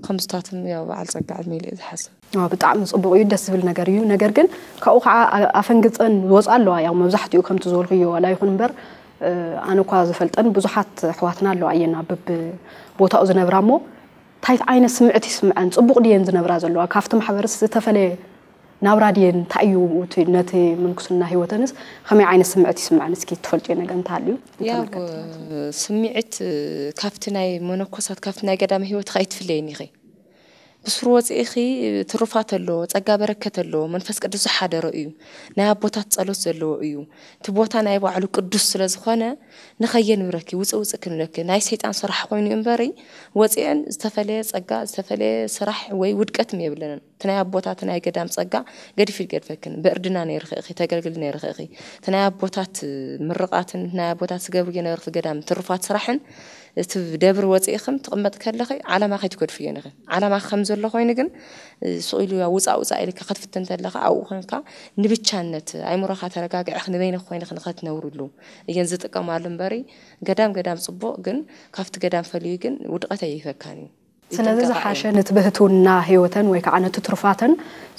ከምዝታትም ያው በዓል ፀጋ ዕድመ ኢለ ዝሓስብ ብጣዕሚ ፅቡቅ እዩ ደስ ዝብል ነገር እዩ ነገር ግን ካብኡ ከዓ ኣፈንግፀን ዝወፃ ኣለዋ ያው መብዛሕትኡ ከምቲ ዝበልኩዮ ዋላ ይኹን እምበር ኣነ እኳ ዝፈልጠን ብዙሓት ኣሕዋትና ኣለዋ እየን ኣብ በብቦታኡ ዝነብራ እሞ፣ እንታይ ዓይነት ስምዕት ይስምዐን? ጽቡቕ ድየን ዝነብራ ዘለዋ? ካብቲ ማሕበርስ ዝተፈለየ ናብራ ድየን? እንታይ እዩ እቲ ነቲ ምንኩስና ህይወተንስ ከመይ ዓይነት ስምዕት ይስምዐን? እስኪ ትፈልጥዮ ነገር እንተሃልዩ ያው ንተመልከትቲ። ስምዒት ካብቲ ናይ መነኮሳት ካብቲ ናይ ገዳም ህይወትኻ ኣይትፍለይን ኢኺ። ብስሩ ወፂእኺ ትሩፋት ኣለዎ፣ ፀጋ በረከት ኣለዎ፣ መንፈስ ቅዱስ ዝሓደሮ እዩ፣ ናይ ኣቦታት ፀሎት ዘለዎ እዩ። እቲ ቦታ ናይ ባዕሉ ቅዱስ ስለ ዝኾነ ንኸየንብረኪ ውፅእ ውፅእ ክንብለኪ ናይ ሰይጣን ስራሕ ኮይኑ እምበሪ፣ ወፂአን ዝተፈለየ ፀጋ ዝተፈለየ ስራሕ ወይ ውድቀት የብለንን። እቲ ናይ ኣቦታት ናይ ገዳም ፀጋ ገዲፉ ይገድፈክን። ብእርድና ነይርኺ ኢኺ፣ ተገልግሊ ነይርኺ ኢኺ። እቲ ናይ ኣቦታት ምርቓትን ናይ ኣቦታት ዝገብርዮ ነበርኪ ገዳም ትሩፋት ስራሕን እቲ ደብር ወፂእኽም ትቕመጥ ከለኺ ዓላማ ከይትገድፍዮ ኢኺ። ዓላማ ከም ዘሎ ኮይኑ ግን ስቕ ኢሉ ውፃእ ውፃእ ኢልካ ክትፍትን ተለኻ ኣብኡ ኮንካ ንብቻነት ኣይምሮኻ ተረጋጊዕኽ ንበይንኽ ኮይንኽ ንኸትነብርሉ እየን ዝጥቀማሉ እምበሪ ገዳም ገዳም ፅቡቕ ግን ካብቲ ገዳም ፈልዩ ግን ውድቐት ኣይህበካን እዩ። ስለዚ ይጥንቀቓ ዝሓሸ እየን። ነቲ ብህትውና ህይወተን ወይ ከዓ ነቲ ትሩፋተን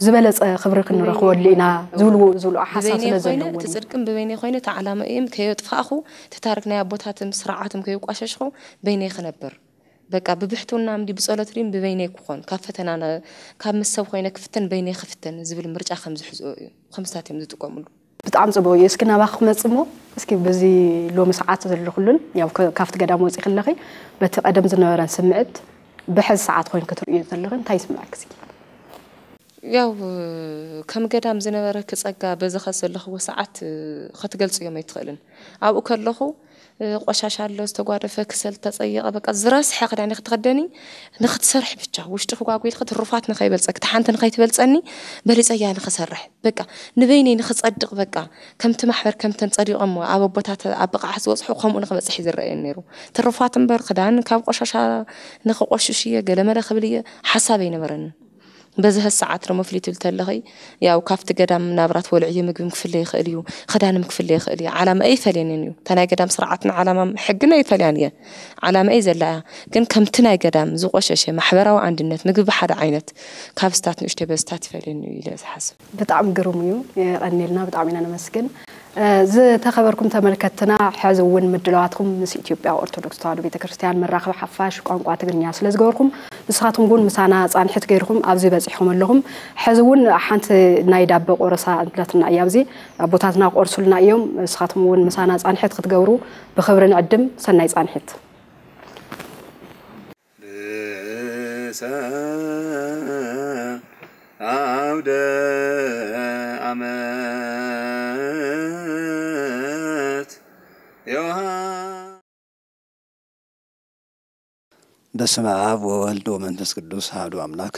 ዝበለፀ ክብሪ ክንረኽበሉ ኢና ዝብልዎ ዝብልኦ ሓሳብ ብበይነይ ስለ ኮይነ ዘለዎም እቲ እዩ። ፅድቅን ብበይነይ ኮይነ እቲ ዓላማ እየም ከየጥፋእኹ እቲ ታሪክ ናይ ኣቦታትን ስርዓትም ከየቋሸሽኹ በይነይ ክነብር በቃ ብብሕትውና እምዲ ብፀሎት ድም ብበይነይ ክኾን ካብ ፈተና ነ- ካብ ምስ ሰብ ኮይነ ክፍተን በይነይ ክፍተን ዝብል ምርጫ ከም ዝሕዝኦ እዩ። ከምስታት እዮም ዝጥቀምሉ። ብጣዕሚ ፅቡቅ እዩ። እስኪ ናባኺ ክመፅእ እሞ እስኪ በዚ ሎሚ ሰዓት ዘለኹሉን ያው ከ- ካብቲ ገዳም ወፂ ከለኺ በቲ ቀደም ዝነበረን ስምዕት ብሕዚ ሰዓት ኮይን ክትርእዮ ዘለኺ እንታይ ይስምዐኪ እስኪ? ያው ከም ገዳም ዝነበረኪ ጸጋ በዚ ኸዚ ዘለኽዎ ሰዓት ኸትገልጽዮም ኣይትኽእልን። ኣብኡ ከለኹ ቆሻሻ ኣሎ፣ ዝተጓደፈ፣ ክሰል፣ ዝተጸየቐ፣ በቃ ዝረስሐ ክዳን ኢኺ ትኽደኒ። ንኽትሰርሒ ብቻ ውሽጥኺ ጓጒ ኢልኺ ትሩፋት ንኸይበልጸኪ፣ እታ ሓንቲ ንኸይትበልጸኒ በሊጸያ ንኽሰርሕ በቃ ንበይነይ ንኽጸድቕ በቃ ከምቲ ማሕበር ከምተን ጸዲቖሞ ኣብ ኣቦታት ኣብ ብቕዓት ዝበጽሑ ከምኡ ንኽበጽሕ እዩ ዝረኣየኒ ነይሩ። ትሩፋት እምበር ክዳን ካብ ቆሻሻ ንኽቆሽሽ እየ ገለመለ ክብል እየ ሓሳብ ኣይነበረንን። በዚ ሰዓት ደሞ ፍልይ ትብል ተለኺ ያው ካብቲ ገዳም ናብራ ትበልዕዮ ምግብም ክፍለ ይኽእል እዩ፣ ክዳንም ክፍለ ይኽእል እዩ። ዓላማ ኣይፈልየንን እዩ። እታ ናይ ገዳም ስርዓትን ዓላማም ሕግን ኣይፈልያን እየ። ዓላማ እየ ዘላ እያ። ግን ከምቲ ናይ ገዳም ዝቆሸሸ ማሕበራዊ ኣንድነት ምግቢ ብሓደ ዓይነት ካብ ስታት ንእሽተይ በስታት ይፈልየኒ እዩ ኢለ ዝሓስብ። ብጣዕሚ ግሩም እዩ። የቐኔልና ብጣዕሚ ኢና ነመስግን። ዝተኸበርኩም ተመልከትና ሕዚ እውን ምድላዋትኩም ምስ ኢትዮጵያ ኦርቶዶክስ ተዋህዶ ቤተክርስትያን መራኸቢ ሓፋሽ ቋንቋ ትግርኛ ስለ ዝገበርኩም ንስኻትኩም እውን ምሳና ፃንሒት ገይርኩም ኣብዚ በፂሕኩም ኣለኹም። ሕዚ እውን ሓንቲ ናይ ዳበ ቆረሳ ኣለትና እያ ኣብዚ ኣቦታትና ቆርሱልና እዮም። ንስኻትኩም እውን ምሳና ፃንሒት ክትገብሩ ብክብሪ ንዕድም። ሰናይ ፃንሒት። ርእሰ አውደ አመት ዮሐ በስመ አብ ወወልድ ወመንፈስ ቅዱስ አሐዱ አምላክ።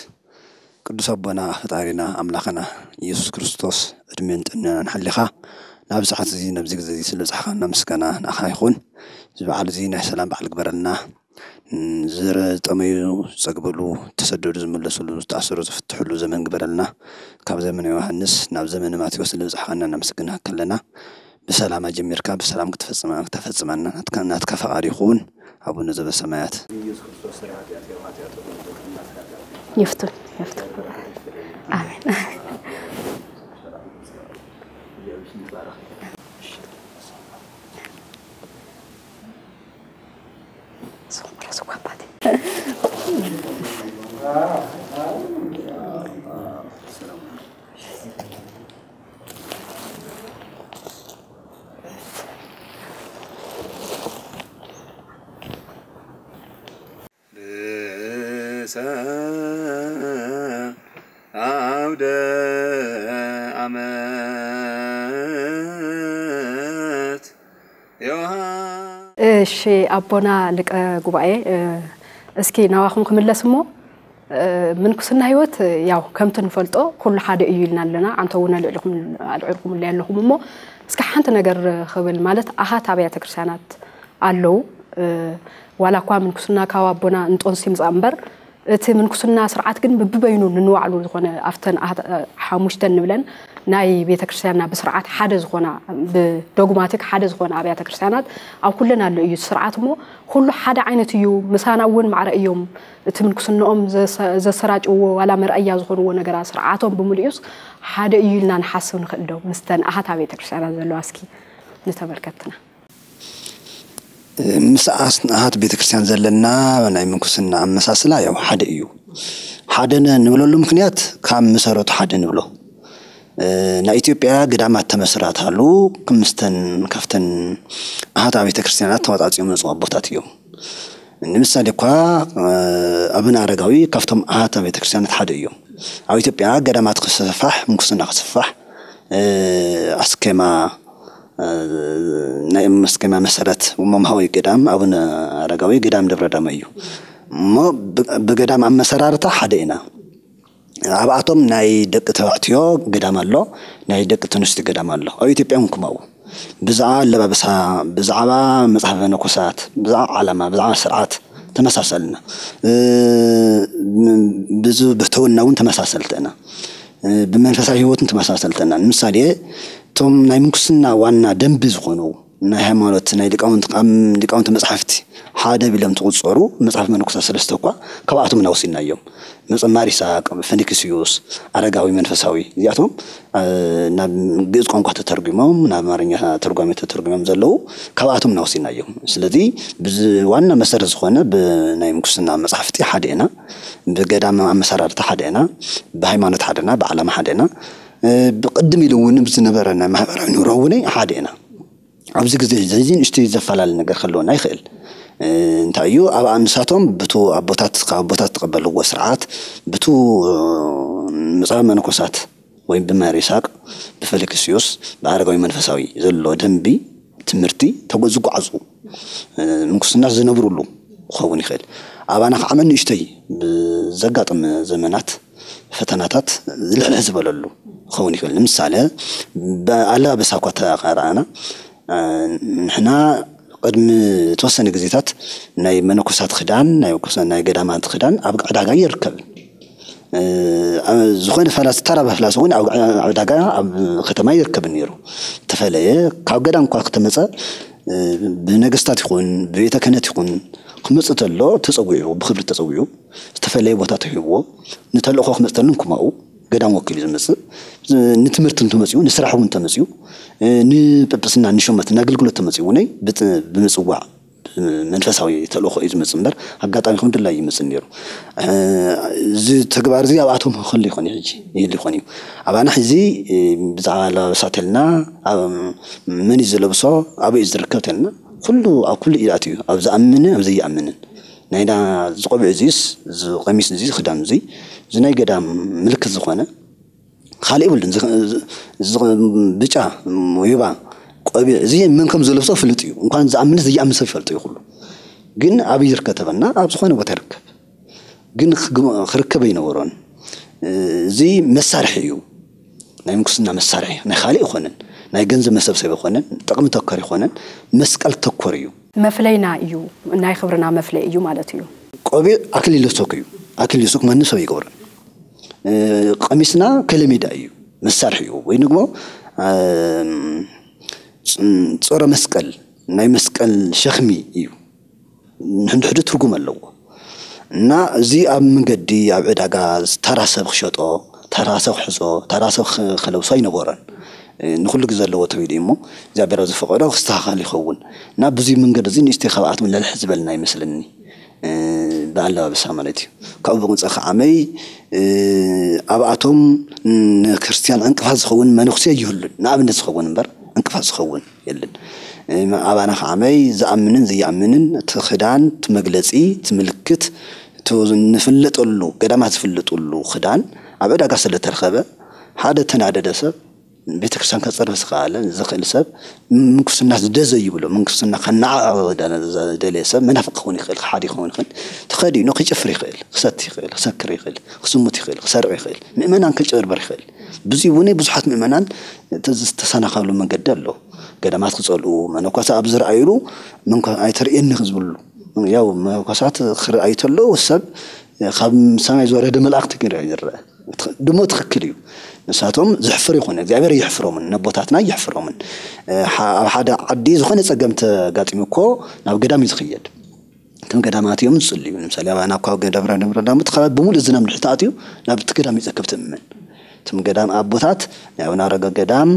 ቅዱስ አቦና ፈጣሪና አምላክና ኢየሱስ ክርስቶስ እድሜን ጥዕናን ሓሊኻ ናብ ሰዓት እዚ ነብዚ ግዜ እዚ ስለ ጻሕኻና ምስጋና ንኣኻ ይኹን። እዚ በዓል እዚ ናይ ሰላም በዓል ግበረልና። ዝጠመዩ ዝጸግብሉ፣ ዝተሰደዱ ዝምለስሉ፣ ዝተኣሰሩ ዝፍትሕሉ ዘመን ግበረልና። ካብ ዘመነ ዮሃንስ ናብ ዘመነ ማቴዎስ ንብጽሕኻና ነመስግንካ ኣለና። ብሰላም ኣጀሚርካ ብሰላም ክትፈጽመና ናትካ ፈቓድ ይኹን። ኣቡነ ዘበሰማያት። ይፍቱን ይፍቱን። ኣሜን። ርእሰ አውደ አመት ዮሐ እሺ ኣቦና ሊቀ ጉባኤ፣ እስኪ ናባኹም ክምለስ እሞ፣ ምንኩስና ህይወት ያው ከምቲ ንፈልጦ ኩሉ ሓደ እዩ ኢልና ኣለና። ኣንተ እውን ኣልዕልኩም ኣልዕልኩምለይ ኣለኹም እሞ፣ እስኪ ሓንቲ ነገር ክብል ማለት ኣሃት ኣብያተ ክርስቲያናት ኣለዉ። ዋላ እኳ ምንኩስና ካብ ኣቦና እንጦንስ ይምፃእ እምበር እቲ ምንኩስና ስርዓት ግን ብብበይኑ ንንባዕሉ ዝኾነ ኣብተን ኣሃት ሓሙሽተን ንብለን ናይ ቤተክርስትያንና ብስርዓት ሓደ ዝኾና ብዶግማቲክ ሓደ ዝኾነ ኣብያተ ክርስትያናት ኣብ ኩለን ኣሎ እዩ እቲ ስርዓት እሞ ኩሉ ሓደ ዓይነት እዩ። ምሳና እውን ማዕረ እዮም። እቲ ምንኩስንኦም ዘሰራጭዎ ዋላ መርኣያ ዝኾንዎ ነገራት ስርዓቶም ብምልኡስ ሓደ እዩ ኢልና ንሓስብ ንኽእል ዶ? ምስተን ኣሃት ቤተክርስትያናት ዘለዋ እስኪ ንተመልከትና። ምስ ኣስንኣሃት ቤተክርስትያን ዘለና ናይ ምንኩስና ኣመሳስላ ያው ሓደ እዩ። ሓደ ነ- ንብለሉ ምክንያት ካብ መሰረቱ ሓደ ንብሎ። ናይ ኢትዮጵያ ገዳማት ተመስራታሉ ክምስተን ካብተን ኣሃት ቤተክርስትያናት ተዋፃፂኦም መፅኡ ኣቦታት እዮም። ንምሳሌ እኳ ኣቡነ ኣረጋዊ ካብቶም ኣሃት ቤተክርስትያናት ሓደ እዮም። ኣብ ኢትዮጵያ ገዳማት ክስፋሕ፣ ምንኩስና ክስፋሕ ኣስኬማ ናይ መስከማ መሰረት መምሃዊ ገዳም ኣቡነ ኣረጋዊ ገዳም ደብረ ዳሞ እዩ። እሞ ብገዳም ኣመሰራርታ ሓደ ኢና። ኣብኣቶም ናይ ደቂ ተባዕትዮ ገዳም ኣሎ፣ ናይ ደቂ ተንስትዮ ገዳም ኣሎ። ኣብ ኢትዮጵያ እውን ከምኡ ብዛዕባ ኣለባበሳ፣ ብዛዕባ መፅሓፍ መነኮሳት፣ ብዛዕባ ዓላማ፣ ብዛዕባ ስርዓት ተመሳሰልና። ብዙ ብሕትውና እውን ተመሳሰልቲ ኢና። ብመንፈሳዊ ህይወትን ተመሳሰልተና ንምሳሌ እቶም ናይ ምንኩስና ዋና ደንቢ ዝኾኑ ናይ ሃይማኖት ናይ ሊቃውንት ቃም ሊቃውንት መጽሓፍቲ ሓደ ቢሎም ትቁጸሩ መጽሓፍ መነኮሳት ሰለስተ እኳ ካብኣቶም ናውሲና እዮም። መጸማር ይስሐቅ፣ ፊልክስዩስ፣ ኣረጋዊ መንፈሳዊ እዚኣቶም ናብ ግእዝ ቋንቋ ተተርጉሞም ናብ ኣማርኛ ተርጓሚ ተተርጉሞም ዘለዉ ካብኣቶም ናውሲና እዮም። ስለዚ ብዚ ዋና መሰረት ዝኾነ ብናይ ምንኩስና መጽሓፍቲ ሓደ ኢና። ብገዳም ኣመሰራርታ ሓደ ኢና፣ ብሃይማኖት ሓደ ኢና፣ ብዓላማ ሓደ ኢና። ብቅድም ኢሉ እውን ብዝነበረ ናይ ማሕበራዊ ኑሮ እውን ሓደ ኢና። ኣብዚ ግዜ እዚ ንእሽተይ ዘፈላለ ነገር ክህልወና ይኽእል። እንታይ እዩ ኣብ ኣንሳቶም ብቱ ኣቦታት ካብ ኣቦታት ተቐበልዎ ስርዓት ብቱ ምፃ መነኮሳት ወይ ብመሪሳቅ ብፈለክስዮስ ብኣረጋዊ መንፈሳዊ ዘሎ ደንቢ ትምህርቲ ተጎ ዝጓዓዙ ምንኩስና ዝነብሩሉ ክኸውን ይኽእል። ኣባና ከዓ መን ንእሽተይ ብዘጋጥም ዘመናት ፈተናታት ዝልሕልሕ ዝበለሉ ክኸውን ይኽእል። ንምሳሌ ብኣለባበሳ እኳ ተረኣና ንሕና ቅድሚ ተወሰነ ግዜታት ናይ መነኮሳት ክዳን ናይ ናይ ገዳማት ክዳን ኣብ ዕዳጋ ይርከብን ዝኾነ ፈላሲ ተራ ፈላሲ እውን ኣብ ዕዳጋ ኣብ ከተማ ይርከብ ነይሩ። ተፈለየ ካብ ገዳም እኳ ከተመፀ ብነገስታት ይኹን ብቤተ ክህነት ይኹን ክመፅእ ተሎ ተፀዊዑ ብክብሪ ተፀዊዑ ዝተፈለየ ቦታ ተሂብዎ ንተልእኮ ክመፅእ ተሎ ክማኡ ገዳም ወኪሉ ዝመፅእ ንትምህርቲ እንተመፅኡ ንስራሕ እውን ተመፅኡ ንጵጵስና ንሾመት ንኣገልግሎት ተመፅኡ ውነይ ብምፅዋዕ መንፈሳዊ ተልእኮ እዩ ዝመፅእ እምበር ኣጋጣሚ ከም ድላይ ይመፅእ ነይሩ። እዚ ተግባር እዚ ኣብኣቶም ክህሉ ይኾን እዩ ሕጂ ይህሉ ይኾን እዩ። ኣባና ሕዚ ብዛዕባ ኣለባበሳ ተልና መን እዩ ዝለብሶ ኣበይ እዩ ዝርከብ ተልና ኩሉ ኣብ ኩሉ እዩ ኣትዩ ኣብ ዝኣምንን ኣብ ዘይኣምንን ናይና ዝቆቢዕ እዚስ ዝቀሚስ እዚ ክዳን እዚ እዚ ናይ ገዳም ምልክት ዝኾነ ካልእ የብሉን። ብጫ ወይባ ቆቢዕ እዚ መን ከም ዝለብሶ ፍልጥ እዩ። እንኳን ዝኣምንስ ዘይኣምን ሰብ ይፈልጦ እዩ ኩሉ። ግን ኣበይ ይርከብ ተበልና ኣብ ዝኾነ ቦታ ይርከብ። ግን ክርከብ ኣይነበሮን። እዚ መሳርሒ እዩ። ናይ ምንኩስና መሳርሒ ናይ ካልእ ይኾነን ናይ ገንዘብ መሰብሰብ ይኾነን ጥቕሚ ተኮር ይኾነን መስቀል ተኮር እዩ። መፍለይና እዩ። ናይ ክብርና መፍለይ እዩ ማለት እዩ። ቆቢዕ ኣክሊለ ሶክ እዩ። ኣክሊለ ሶክ ማንም ሰብ ኣይገብሮን። ቀሚስና ከለሜዳ እዩ፣ መሳርሒ እዩ ወይ ንግሞ ጾረ መስቀል ናይ መስቀል ሸኽሚ እዩ። ንሕንድሕዱ ትርጉም ኣለዎ እና እዚ ኣብ መንገዲ ኣብ ዕዳጋ ተራ ሰብ ክሸጦ ተራ ሰብ ክሕዞ ተራ ሰብ ክለብሶ ኣይነበሮን። ንኩሉ ግዜ ኣለዎ ተቢሉ እዩ እሞ እግዚኣብሔር ኣብ ዝፈቀዶ ክስተካከል ይኸውን እና ብዙይ መንገዲ እዚ ንእሽተይ ካብኣቶም ለልሕ ዝበልና ይመስለኒ። ብኣለባብሳ ማለት እዩ። ካብኡ ብቕንፀ ከዓመይ ኣብኣቶም ንክርስትያን ዕንቅፋት ዝኸውን መነኩሴ ይህሉን ንኣብነት ዝኸውን እምበር ዕንቅፋት ዝኸውን የለን። ኣባና ከዓመይ ዝኣምንን ዘይኣምንን እቲ ክዳን እቲ መግለፂ እቲ ምልክት ንፍለጠሉ ገዳማት ዝፍለጥሉ ክዳን ኣብ ዕዳጋ ስለተረኸበ ሓደ ተናደደ ሰብ ቤተክርስትያን ከፅርብ ዝኸኣለ ዝኽእል ሰብ ምንኩስና ዝደዘ ይብሎ ምንኩስና ከነዓቕ ዝደለየ ሰብ መናፍቅ ክኸውን ይኽእል ክሓዲ ክኸውን ይኽእል ተኸዲኖ ክጭፍር ይኽእል ክሰት ይኽእል ክሰክር ይኽእል ክስሙት ይኽእል ክሰርቕ ይኽእል ምእመናን ክጭበርበር ይኽእል ብዙ እውን ብዙሓት ምእመናን ዝተሰናኸሉ መንገዲ ኣሎ ገዳማት ክፀልኡ መነኮሳ ኣብ ዝረኣዩሉ ኣይተርእየኒ ዝብሉ ያው መነኮሳት ክረኣዩ ተለዉ ሰብ ካብ ሰማይ ዝወረደ መላእክቲ ገይሩ ይረአ ድሞ ትኽክል እዩ። ንሳቶም ዘሕፍር ይኾነ እግዚኣብሔር የሕፍሮምን ነቦታትና የሕፍሮምን። ኣብ ሓደ ዓዲ ዝኾነ ጸገም ተጋጢሙ እኮ ናብ ገዳም እዩ ዝኽየድ። እቶም ገዳማት እዮም ዝጽልዩ። ንምሳሌ ኣባና እኳ ደብረ ደብረ ዳሞ እቲ ከባቢ ብምሉእ ዝናም ድሕር ተኣትዩ ናብ እቲ ገዳም ይጸከብ ትእምመን። እቶም ገዳም ኣቦታት ናይ ኣቡነ ኣረጋዊ ገዳም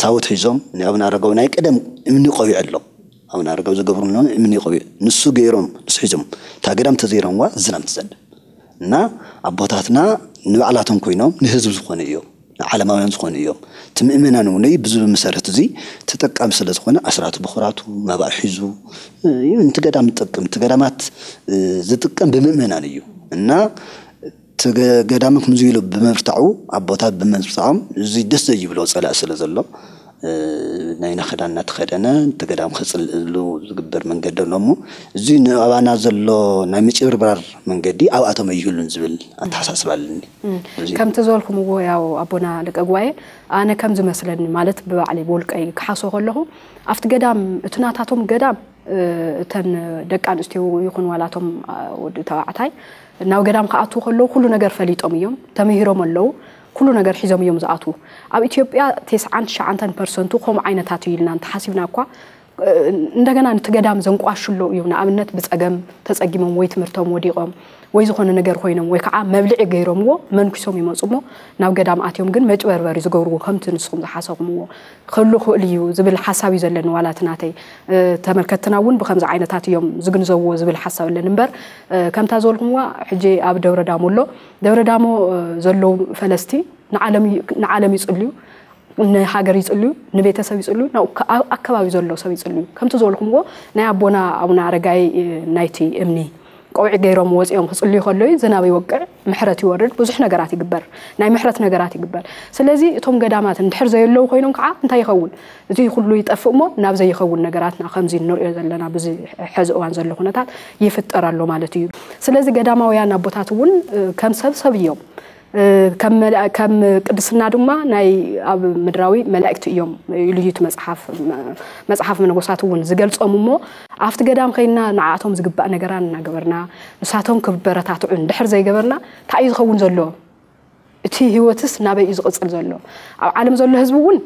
ታቦት ሒዞም ናይ ኣቡነ ኣረጋዊ ናይ ቀደም እምኒ ቆቢዕ ኣሎ። ኣቡነ ኣረጋዊ ዝገብሩሎም እምኒ ቆቢዕ ንሱ ገይሮም ንሱ ሒዞም እታ ገዳም ተዘይረምዋ ዝናም ትዘንብ እና ኣቦታትና ንባዕላቶም ኮይኖም ንህዝብ ዝኾኑ እዮም፣ ንዓለማውያን ዝኾኑ እዮም። እቲ ምእመናን እውን ብዙ መሰረት እዚ ተጠቃሚ ስለ ዝኾነ ኣስራት ብኩራቱ መባእ ሒዙ እዩ። ነቲ ገዳም ዝጠቅም እቲ ገዳማት ዝጥቀም ብምእመናን እዩ እና እቲ ገዳም ከምዚ ኢሉ ብምብርታዑ ኣቦታት ብምብርታዖም እዚ ደስ ዘይብሎ ፀላእ ስለ ዘሎ ናይና ክዳን እናተኸደነ እቲ ገዳም ከፅልእሉ ዝግበር መንገዲ ኣሎ እሞ እዚ ንኣባና ዘሎ ናይ ምጭብርባር መንገዲ ኣብኣቶም ኣይህሉን ዝብል ኣተሓሳስባ ኣለኒ። ከምቲ ዝበልኩምዎ ያው ኣቦና ሊቀ ጉባኤ ኣነ ከም ዝመስለኒ ማለት ብባዕለይ ብውልቀይ ክሓስቦ ከለኹ ኣብቲ ገዳም እቲ ናታቶም ገዳም እተን ደቂ ኣንስትዮ ይኹን ዋላቶም ወዲ ተባዕታይ ናብ ገዳም ክኣትዉ ከለዉ ኩሉ ነገር ፈሊጦም እዮም፣ ተምሂሮም ኣለዉ፣ ኩሉ ነገር ሒዞም እዮም ዝኣትዉ። ኣብ ኢትዮጵያ ቴስዓን ትሽዓንተን ፐርሰንቱ ከምኡ ዓይነታት እዩ ኢልና እንተሓሲብና እኳ እንደገና ነቲ ገዳም ዘንቋሽሎ እዩ። ንኣብነት ብፀገም ተፀጊሞም ወይ ትምህርቶም ወዲቖም ወይ ዝኾነ ነገር ኮይኖም ወይ ከዓ መብልዒ ገይሮምዎ መንኩሶም ይመፁ እሞ ናብ ገዳም ኣትዮም ግን መጭበርበሪ ዝገብርዎ ከምቲ ንስኹም ዝሓሰኹምዎ ክህሉ ክእል እዩ ዝብል ሓሳብ እዩ ዘለኒ ዋላ እቲ ናተይ ተመልከትትና እውን ብከምዚ ዓይነታት እዮም ዝግንዘብዎ ዝብል ሓሳብ ኣለኒ እምበር ከምታ ዝበልኩምዋ ሕጂ ኣብ ደብረ ዳሞ ኣሎ ደብረ ዳሞ ዘለዉ ፈለስቲ ንዓለም ይፅልዩ ንሃገር ይፅልዩ ንቤተሰብ ይፅልዩ ኣብ ኣከባቢ ዘሎ ሰብ ይፅልዩ ከምቲ ዝበልኩምዎ ናይ ኣቦና ኣቡነ ኣረጋይ ናይቲ እምኒ ቆቢዕ ገይሮም ወፂኦም ክፅልዩ ከለዩ ዝናብ ይወቅዕ ምሕረት ይወርድ ብዙሕ ነገራት ይግበር ናይ ምሕረት ነገራት ይግበር ስለዚ እቶም ገዳማት እንድሕር ዘየለዉ ኮይኖም ከዓ እንታይ ይኸውን እዚ ኩሉ ይጠፍእ እሞ ናብ ዘይኸውን ነገራትና ከምዚ ንሪኦ ዘለና ብዚ ሕዚ እዋን ዘሎ ኩነታት ይፍጠር ኣሎ ማለት እዩ ስለዚ ገዳማውያን ኣቦታት እውን ከም ሰብ ሰብ እዮም ከም ቅድስና ድማ ናይ ኣብ ምድራዊ መላእክቲ እዮም ኢሉ እዩ መፅሓፍ መፅሓፍ መነኮሳት እውን ዝገልፆም እሞ ኣብቲ ገዳም ከይና ንዓኣቶም ዝግባእ ነገራ እናገበርና ንሳቶም ክበረታትዑ እንድሕር ዘይገበርና እንታይ እዩ ዝኸውን ዘሎ እቲ ህይወትስ ናበይ እዩ ዝቕፅል ዘሎ ኣብ ዓለም ዘሎ ህዝቢ እውን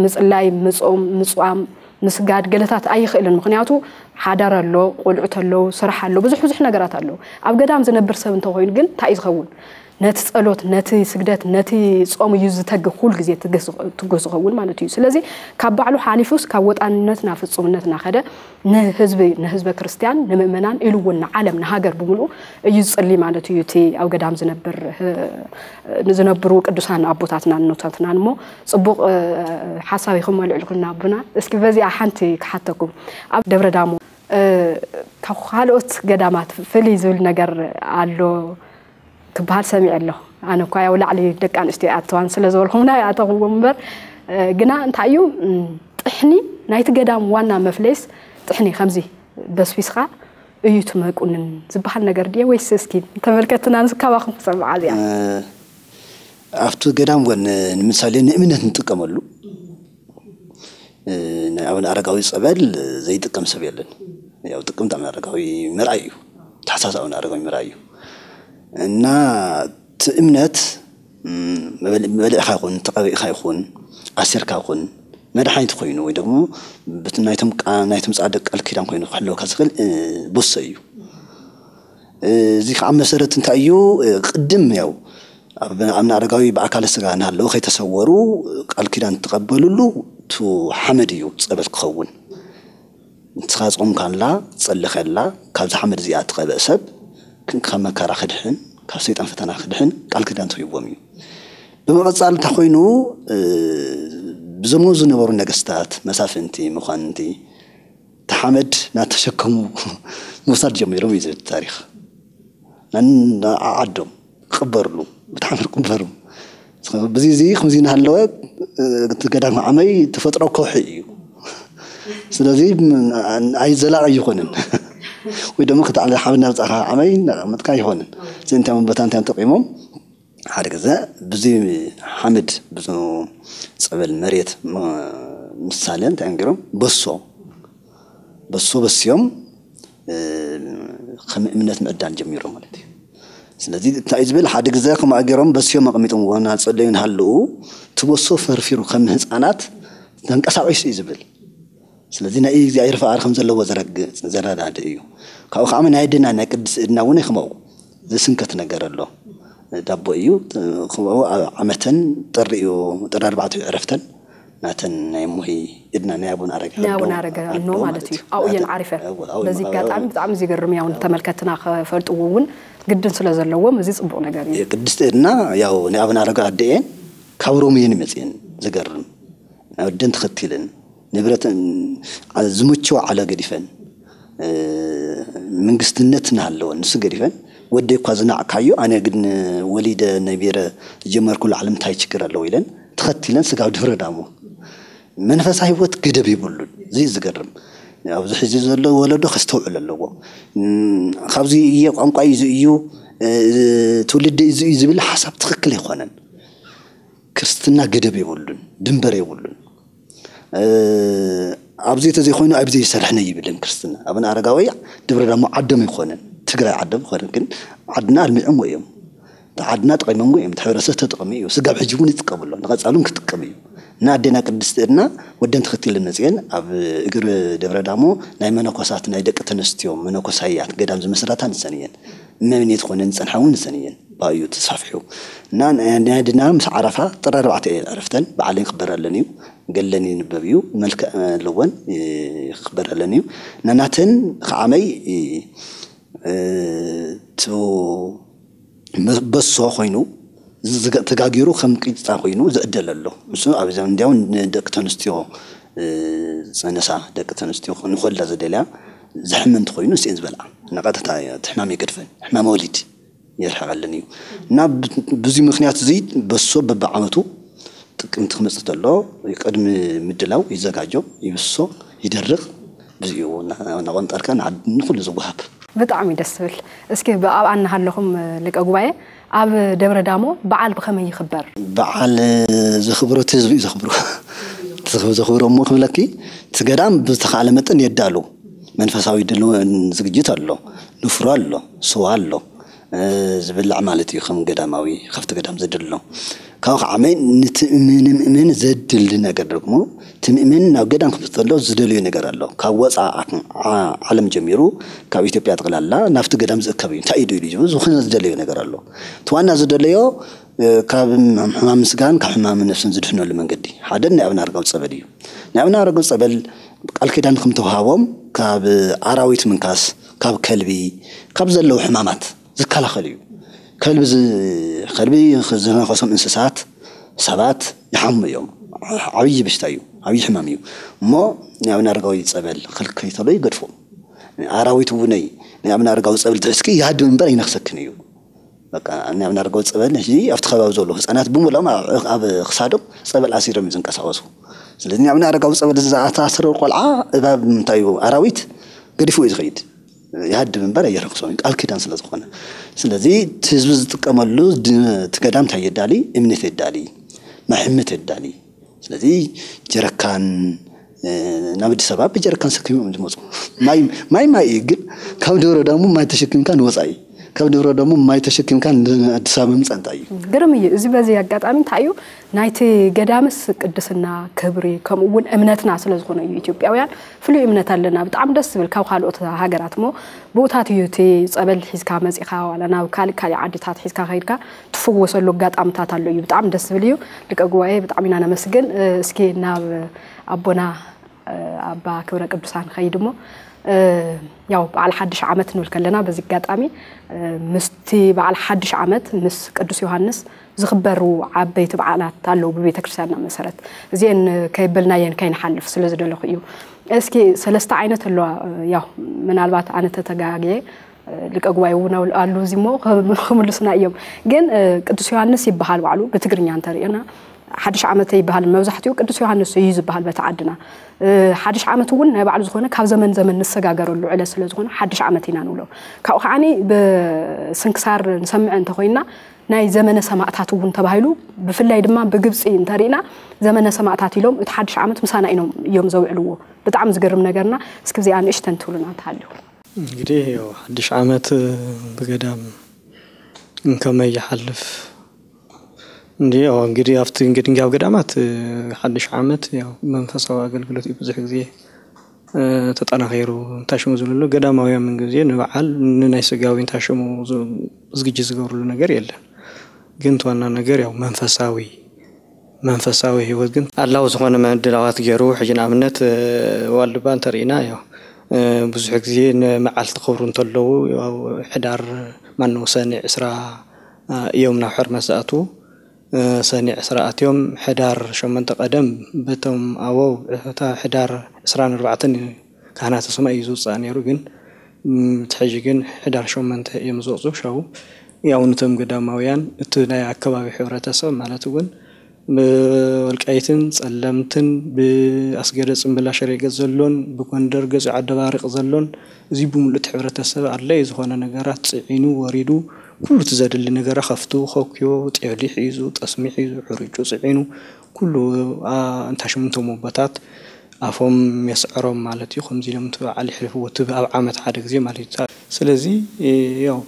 ምፅላይ ምፆም ምፅዋም ምስጋድ ገለታት ኣይኽእልን ምክንያቱ ሓዳር ኣሎ ቆልዑት ኣለዉ ስራሕ ኣሎ ብዙሕ ብዙሕ ነገራት ኣለዉ ኣብ ገዳም ዝነብር ሰብ እንተኮይኑ ግን እንታይ እዩ ዝኸውን ነቲ ጸሎት፣ ነቲ ስግደት፣ ነቲ ጾም እዩ ዝተግህ ኩል ግዜ ትጉህ ዝኸውን ማለት እዩ። ስለዚ ካብ ባዕሉ ሓሊፉስ ካብ ወጣንነት ናብ ፍጹምነት እናኸደ ንህዝቢ ንህዝበ ክርስትያን ንምእመናን ኢሉ እውን ንዓለም ንሃገር ብምልኡ እዩ ዝጽሊ ማለት እዩ። እቲ ኣብ ገዳም ዝነብር ዝነብሩ ቅዱሳን ኣቦታትናን እኖታትናን እሞ ጽቡቕ ሓሳብ ኢኹም ኣልዒልኩልና ኣቦና። እስኪ በዚኣ ሓንቲ ክሓተኩም ኣብ ደብረ ዳሞ ካብ ካልኦት ገዳማት ፍልይ ዝብል ነገር ኣሎ ክበሃል ሰሚዐ ኣለኹ። ኣነ እኳ ያው ላዕሊ ደቂ ኣንስትዮ ይኣተዋን ስለ ዝበልኩምና ይኣተኽዎም እምበር ግና እንታይ እዩ ጥሕኒ ናይቲ ገዳም ዋና መፍለይስ ጥሕኒ ከምዚ በስቢስኻ እዩ ትመቁንን ዝበሃል ነገር ድየ ወይስ እስኪ ተመልከትና ንስካባኹም ክሰምዓ እዚኣ ኣብቲ ገዳም ወን ንምሳሌ ንእምነት ንጥቀመሉ ናይ ኣቡነ ኣረጋዊ ጸበል ዘይጥቀም ሰብ የለን። ያው ጥቅምት ኣቡነ ኣረጋዊ ምርኣይ እዩ። ተሓሳስ ኣቡነ ኣረጋዊ ምርኣይ እዩ። እና እቲ እምነት መበልዕኻ ይኹን ተቐቢእካ ይኹን ኣሲርካ ይኹን መድሓኒት ኮይኑ ወይ ደግሞ በቲ ናይቶም ናይቶም ጻድቅ ቃል ኪዳን ኮይኑ ክሕልወካ ዝኽእል ቦሶ እዩ። እዚ ከዓ መሰረት እንታይ እዩ? ቅድም ያው ኣብ ኣብነ ኣረጋዊ ብኣካለ ስጋ እናሃለዉ ከይተሰወሩ ቃል ኪዳን ትቐበልሉ እቲ ሓመድ እዩ ጸበል ክኸውን። ንስኻ ጾምካላ ትጸሊ ከላ ካብዚ ሓመድ እዚኣ ትቐብእ ሰብ ካብ መከራ ክድሕን ካብ ሰይጣን ፈተና ክድሕን ቃል ኪዳን ተሂብዎም እዩ። ብምቕጻል እንታይ ኮይኑ ብዘመኑ ዝነበሩ ነገስታት መሳፍንቲ መኳንንቲ እቲ ሓመድ እናተሸከሙ ምውሳድ ጀሚሮም እዩ ዝብል ታሪኽ። ነንዓዓዶም ክቕበርሉ ብቲ ሓመድ ክቕበሩ። ብዚ እዚ ከምዚ እናሃለወ እቲ ገዳም ዓመይ ተፈጥሮ ከውሒ እዩ። ስለዚ ኣይ ዘላቒ ኣይኾንን። ወይ ደሞ ክተዓለ ሓመድ እናብፃእካ ዓመይ እናቐመጥካ ኣይኾንን። እዚ እንታይ ቦታ እንታይ ተቂሞም ሓደ ግዜ ብዚ ሓመድ ብዚ ፀበል መሬት ምሳሌ እንታይ እዮም ገይሮም በሶ በሶ በስዮም ከም እምነት ምዕዳን ጀሚሮም ማለት እዩ። ስለዚ እንታይ እዩ ዝብል ሓደ ግዜ ከምኣ ገይሮም በስዮም ኣቐሚጦምዎ እናፀለዩ እናሃለዉ እቲ በሶ ፈርፊሩ ከም ህፃናት ተንቀሳቒሱ እዩ ዝብል። ስለዚ ናይ እግዚኣብሔር ፍቓድ ከም ዘለዎ ዘረዳድእ እዩ። ካብኡ ከዓ ናይ ኣዴና ናይ ቅድስቲ እድና እውን ከምኡ ዝስንከት ነገር ኣሎ። ዳቦ እዩ። ከምኡ ኣብ ዓመተን ጥሪ እዩ፣ ጥሪ ኣርባዕተ እዩ ዕረፍተን። ናተን ናይ እሞሂ እድና ናይ ኣቡነ ኣረጋዊ ናይ ኣቡነ ኣዶ ኣረጋዊ ኣዶ እኖ ማለት እዩ። ኣብኡ እየን ናተን- ዓሪፈን። ኣብኡ- ኣብኡ- በዚ ኣብኡ- ኣጋጣሚ ብጣዕሚ ዝገርም እዩ። እውን ተመልከትና ክፈልጥዎ እውን ግድን ስለ ዘለዎም እዚ ጽቡቕ ነገር እዩ። የቅድስት እድና ያው ናይ ኣቡነ ኣረጋዊ ኣደ እየን። ካብ ሮም እየን መፅየን። ዝገርም ናይ ወደን ተኸቲለን ንብረተን ዝመቸወ ዓለ ገዲፈን እ፣ መንግስትነት እናሃለወን ንሱ ገዲፈን ወደይ እኳ ዝናዕካዮ ኣነ ግን ወሊደ ነቢረ ዝጀመርኩሉ ዓለም እንታይ ችግር ኣለዎ ኢለን ተኸቲለን ስጋብ ድብረ ዳሞ መንፈሳዊ ህይወት ገደብ የብሉን። እዚ ዝገርም ኣብዚ ሕዚ ዘሎ ወለዶ ከስተውዕል ኣለዎ። እም፣ ካብዚ እየ ቋንቋ እዩ እዩ እ፣ ትውልዲ እዚ እዩ ዝብል ሓሳብ ትኽክል ኣይኮነን። ክርስትና ገደብ የብሉን፣ ድንበር የብሉን። እ፣ ኣብዚ ተዘይኮይኑ ኣብዚ ይሰርሕነ ይብልን ክርስትና። ኣቡነ ኣረጋዊ ድብረ ዳሞ ዓዶም ኣይኮነን፣ ትግራይ ዓዶም ኣይኮነን፣ ግን ዓድና ኣልሚዖምዎ እዮም። እቲ ዓድና ጠቒሞምዎ እዮም፣ እቲ ሕብረተሰብ ተጠቕሚ እዩ። ስጋብ ሕጂ እውን ይጥቀሙ ኣሎ፣ ንቐፃሉን ክጥቀም እዩ። እና ኣዴና ቅድስቲ እድና ወደን ተኸቲለን መፅየን ኣብ እግሪ ደብረ ዳሞ ናይ መነኮሳት ናይ ደቂ ተነስትዮ መነኮሳያት ገዳም ዝመስረታ ንሰን እየን። እመምኔት ኮነን ዝፀንሓ እውን ንሰን እየን። ብኣዩ ተስፋፍሑ እና ናይ ኣዴና ምስ ዓረፋ ጥሪ ኣርባዕተ እየን ዕረፍተን። በዓለን ክበረለን እዩ። ገለን ይንበብ እዩ። መልክዕ ኣለወን፣ ይኽበረለን እዩ። ናናተን ከዓመይ እ፣ ቱ በሶ ኮይኑ ዝገ- ተጋጊሩ ከም ቂጣ ኮይኑ ዝዕደል ኣሎ። ንሱ ኣብ እንዲያው ንደቂ ተንስትዮ እ፣ ዝፀነሳ ደቂ ተንስትዮ ንኮላ ዘደልያ ዝሕመ እንተኮይኑ ንስኤን ዝበልዓ። ንቐጥታ እቲ ሕማም የገድፈን፣ ሕማም ወሊድ የርሕቐልን እዩ። እና ብ- ብዙ ምክንያት እዚ በሶ በብዓመቱ ጥቅምቲ ክመፅእ ተሎ ቅድሚ ምድላው ይዘጋጆ፣ ይብሶ፣ ይደርቕ። ብዚኡ እናቆንጠርካ ንዓዲ ንኩሉ ዝወሃብ። ብጣዕሚ ደስ ትብል። እስኪ ብኣብኣ እናሃለኹም ሊቀ ጉባኤ ኣብ ደብረ ዳሞ በዓል ብኸመይ ይኽበር? በዓል ዘኽብሮ እቲ ህዝቢ እዩ ዘኽብሮ። እቲ ዘኽብሮ እሞ ክብለኪ እቲ ገዳም ብዝተኻእለ መጠን የዳሉ። መንፈሳዊ ድልወን ዝግጅት ኣሎ፣ ንፍሮ ኣሎ፣ ስዋ ኣሎ፣ እ፣ ዝብላዕ ማለት እዩ። ከም ገዳማዊ ካብቲ ገዳም ዝድሎ ካብኡ ከዓ መን ንትእምንምእምን ዘድሊ ነገር ደግሞ እቲ ምእመን ናብ ገዳም ክመፅእ ከሎ ዝደልዮ ነገር ኣሎ። ካብ ወፃ ዓለም ጀሚሩ ካብ ኢትዮጵያ ጠቕላላ ናብቲ ገዳም ዝእከብ እዩ። እንታይ እዩ ኢሉ ዝብል ዝኾነ ዝደለዮ ነገር ኣሎ። እቲ ዋና ዝደለዮ ካብ ሕማም ስጋን ካብ ሕማም ነፍስን ዝድሕነሉ መንገዲ ሓደ ናይ ኣብነ ኣረጋዊ ፀበል እዩ። ናይ ኣብነ ኣረጋዊ ፀበል ቃል ኪዳን ከም ተዋሃቦም ካብ ኣራዊት ምንካስ ካብ ከልቢ ካብ ዘለዉ ሕማማት ዝከላኸል እዩ። ከልቢ ዝ- ከልቢ ዝነኸሶም እንስሳት ሰባት ይሓሙ እዮም። ዓብዪ በሽታ እዩ፣ ዓብዪ ሕማም እዩ። እሞ ናይ ኣብነ ኣረጋዊ ፀበል ክልከይ ተሎ ይገድፎም። ኣራዊት እውነይ ናይ ኣብነ ኣረጋዊ ፀበል ትሕዝኪ ይሃድም እምበር ኣይነኽሰክን እዩ። በቃ ናይ ኣብነ ኣረጋዊ ፀበል ሕዚ ኣብቲ ከባቢ ዘለዉ ህፃናት ብምሎም ኣብ ክሳዶም ፀበል ኣሲሮም እዮም ዝንቀሳቐሱ። ስለዚ ናይ ኣብነ ኣረጋዊ ፀበል ዝተኣሳሰረ ቆልዓ እባብ እንታይ እዩ ኣራዊት ገዲፉ እዩ ዝኸይድ። ይሃድም እምበር ኣየረኽሶም እዩ፣ ቃል ኪዳን ስለ ዝኾነ። ስለዚ እቲ ህዝቢ ዝጥቀመሉ ድ- እቲ ገዳም እንታይ የዳሊ? እምነት የዳሊ፣ ማይ ሕምት የዳሊ። ስለዚ ጀረካን ናብ ኣዲስ ኣበባ ብጀረካን ሰኪሞም ዝመፁ። ማይ ማይ ማይ እዩ፣ ግን ካብ ደብረ ዳሞ ማይ ተሸኪምካ ንወፃኢ፣ ካብ ደብረ ዳሞ ማይ ተሸኪምካ ንኣዲስ ኣበባ ምምፃእ እንታይ እዩ? ግርም እዩ። እዚ በዚ ኣጋጣሚ እንታይ እዩ ናይቲ ገዳምስ ቅድስና ክብሪ ከምኡ እውን እምነትና ስለ ዝኾነ እዩ። ኢትዮጵያውያን ፍሉይ እምነት ኣለና፣ ብጣዕሚ ደስ ዝብል ካብ ካልኦት ሃገራት። እሞ ብኡታት እዩ እቲ ፀበል ሒዝካ መፂኻ ዋላ ናብ ካልእ ካልእ ዓድታት ሒዝካ ከይድካ ትፍወሰሉ ኣጋጣምታት ኣሎ እዩ። ብጣዕሚ ደስ ዝብል እዩ። ሊቀ ጉባኤ ብጣዕሚ ኢና ነመስግን። እስኪ ናብ ኣቦና ኣባ ክብረ ቅዱሳን ኸይድ እሞ ያው በዓል ሓድሽ ዓመት ንብል ከለና በዚ ኣጋጣሚ ምስቲ በዓል ሓድሽ ዓመት ምስ ቅዱስ ዮሃንስ ዝኽበሩ ዓበይቲ በዓላት ኣለዉ ብቤተ ክርስቲያንና መሰረት። እዚአን ከይበልናየን ከይንሓልፍ ስለ ዝደለኹ እዩ። እስኪ ሰለስተ ዓይነት ኣለዋ። ያው ምናልባት ኣነ ተተጋግየ ሊቀ ጉባኤ እውን ኣሉ እዚ እሞ ክምልሱና እዮም። ግን ቅዱስ ዮሃንስ ይበሃል ባዕሉ ብትግርኛ እንተሪእና ሓድሽ ዓመት ኣይበሃልን። መብዛሕትኡ ቅዱስ ዮሃንስ እዩ ዝበሃል በቲ ዓድና። ሓድሽ ዓመት እውን ናይ ባዕሉ ዝኾነ ካብ ዘመን ዘመን ንሰጋገረሉ ዕለት ስለ ዝኾነ ሓድሽ ዓመት ኢና ንብሎ። ካብኡ ከዓኒ ብስንክሳር ንሰምዐ እንተኾይንና ናይ ዘመነ ሰማእታት እውን ተባሂሉ ብፍላይ ድማ ብግብፂ እንተሪእና ዘመነ ሰማእታት ኢሎም እቲ ሓድሽ ዓመት ምሳና ኢኖም እዮም ዘውዕልዎ። ብጣዕሚ ዝገርም ነገርና እስኪ እዚኣ ንእሽተን ትብሉና እንተሃልዩ። እንግዲህ ያው ሓድሽ ዓመት ብገዳም እንከመይ ይሓልፍ እንዲ ያው እንግዲህ ኣብቲ እንግዲህ ኣብ ገዳማት ሓድሽ ዓመት ያው መንፈሳዊ ኣገልግሎት እዩ ብዙሕ ግዜ ተጠናኺሩ እንታሽሙ ዝብልሉ ገዳማውያን ምን ግዜ ንበዓል ንናይ ስጋዊ እንታሽሙ ዝግጅ ዝገብርሉ ነገር የለን። ግን ዋና ነገር ያው መንፈሳዊ መንፈሳዊ ህይወት ግን ኣላዊ ዝኾነ ምድላዋት ገይሩ፣ ሕጂ ንኣብነት ዋልድባ እንተርኢና ዮ ብዙሕ ግዜ ንመዓልቲ ክብሩ እንተለዉ፣ ሕዳር ማነው ሰኒ ዕስራ እዮም ናብ ሕርመት ዝኣትዉ። ሰኒ ዕስራ ኣትዮም ሕዳር ሸሞንተ ቀደም በቶም ኣበው እታ ሕዳር ዕስራን ኣርባዕተን ካህናተ ሰማይ እዩ ዝውፃእ ነይሩ። ግን እቲ ሕጂ ግን ሕዳር ሸሞንተ እዮም ዝወፁ። ሸው ያው ነቶም ገዳማውያን እቲ ናይ ኣከባቢ ሕብረተሰብ ማለት እውን ብወልቃይትን ጸለምትን ብኣስገደ ጽምብላ ሽሬ ገጽ ዘሎን ብጎንደር ገጹ ዓደባሪቕ ዘሎን እዚ ብምሉእ እቲ ሕብረተሰብ ኣድላይ ዝኾነ ነገራት ጽዒኑ ወሪዱ ኩሉ እቲ ዘድሊ ነገራ ከፍቱ ከኩዮ ጤሊ ሒዙ ጠስሚ ሒዙ ሕርጩ ጽዒኑ ኩሉ እንታ ሽምንቶም ኣቦታት ኣፎም የስዕሮም ማለት እዩ። ከምዚ ኢሎም እቲ በዓል ይሕልፍዎ እቲ ኣብ ዓመት ሓደ ግዜ ማለት እዩ። ስለዚ ያው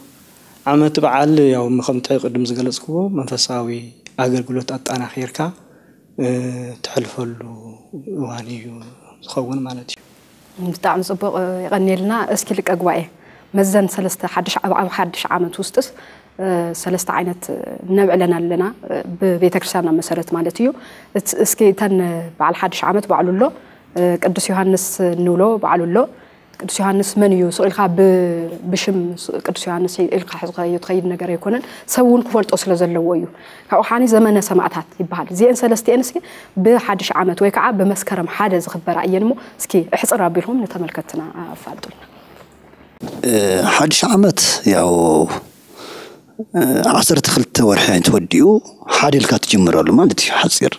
ዓመት በዓል ያው ከምቲ ቅድም ዝገለጽክዎ መንፈሳዊ ኣገልግሎት ኣጣናኺርካ ተሕልፈሉ እዋን እዩ ዝኸውን ማለት እዩ። ብጣዕሚ ፅቡቅ ይቀኒልና። እስኪ ልቀ ጉባኤ መዘን ሰለስተ ሓድሽ ኣብ ኣብ ሓድሽ ዓመት ውስጥስ ሰለስተ ዓይነት ነብዕለን ኣለና ብቤተክርስትያንና መሰረት ማለት እዩ። እስኪ እተን በዓል ሓድሽ ዓመት ባዕሉ ኣሎ ቅዱስ ዮሃንስ እንብሎ ባዕሉ ኣሎ ቅዱስ ዮሃንስ መን እዩ ስቕ ኢልካ ብሽም ቅዱስ ዮሃንስ ኢልካ ሕዝካዮ ትኸይድ ነገር ኣይኮነን። ሰብ እውን ክፈልጦ ስለ ዘለዎ እዩ። ካብኡ ሓኒ ዘመነ ሰማእታት ይበሃል። እዚአን ሰለስቲአን እስኪ ብሓድሽ ዓመት ወይ ከዓ ብመስከረም ሓደ ዝኽበራ እየን እሞ እስኪ እሕፅር ኣቢልኩም ንተመልከትና ኣፋልጡልና። ሓድሽ ዓመት ያው ዓሰርተ ክልተ ወርሒ ተወዲኡ ሓደ ኢልካ ትጅምረሉ ማለት እዩ ሓፂር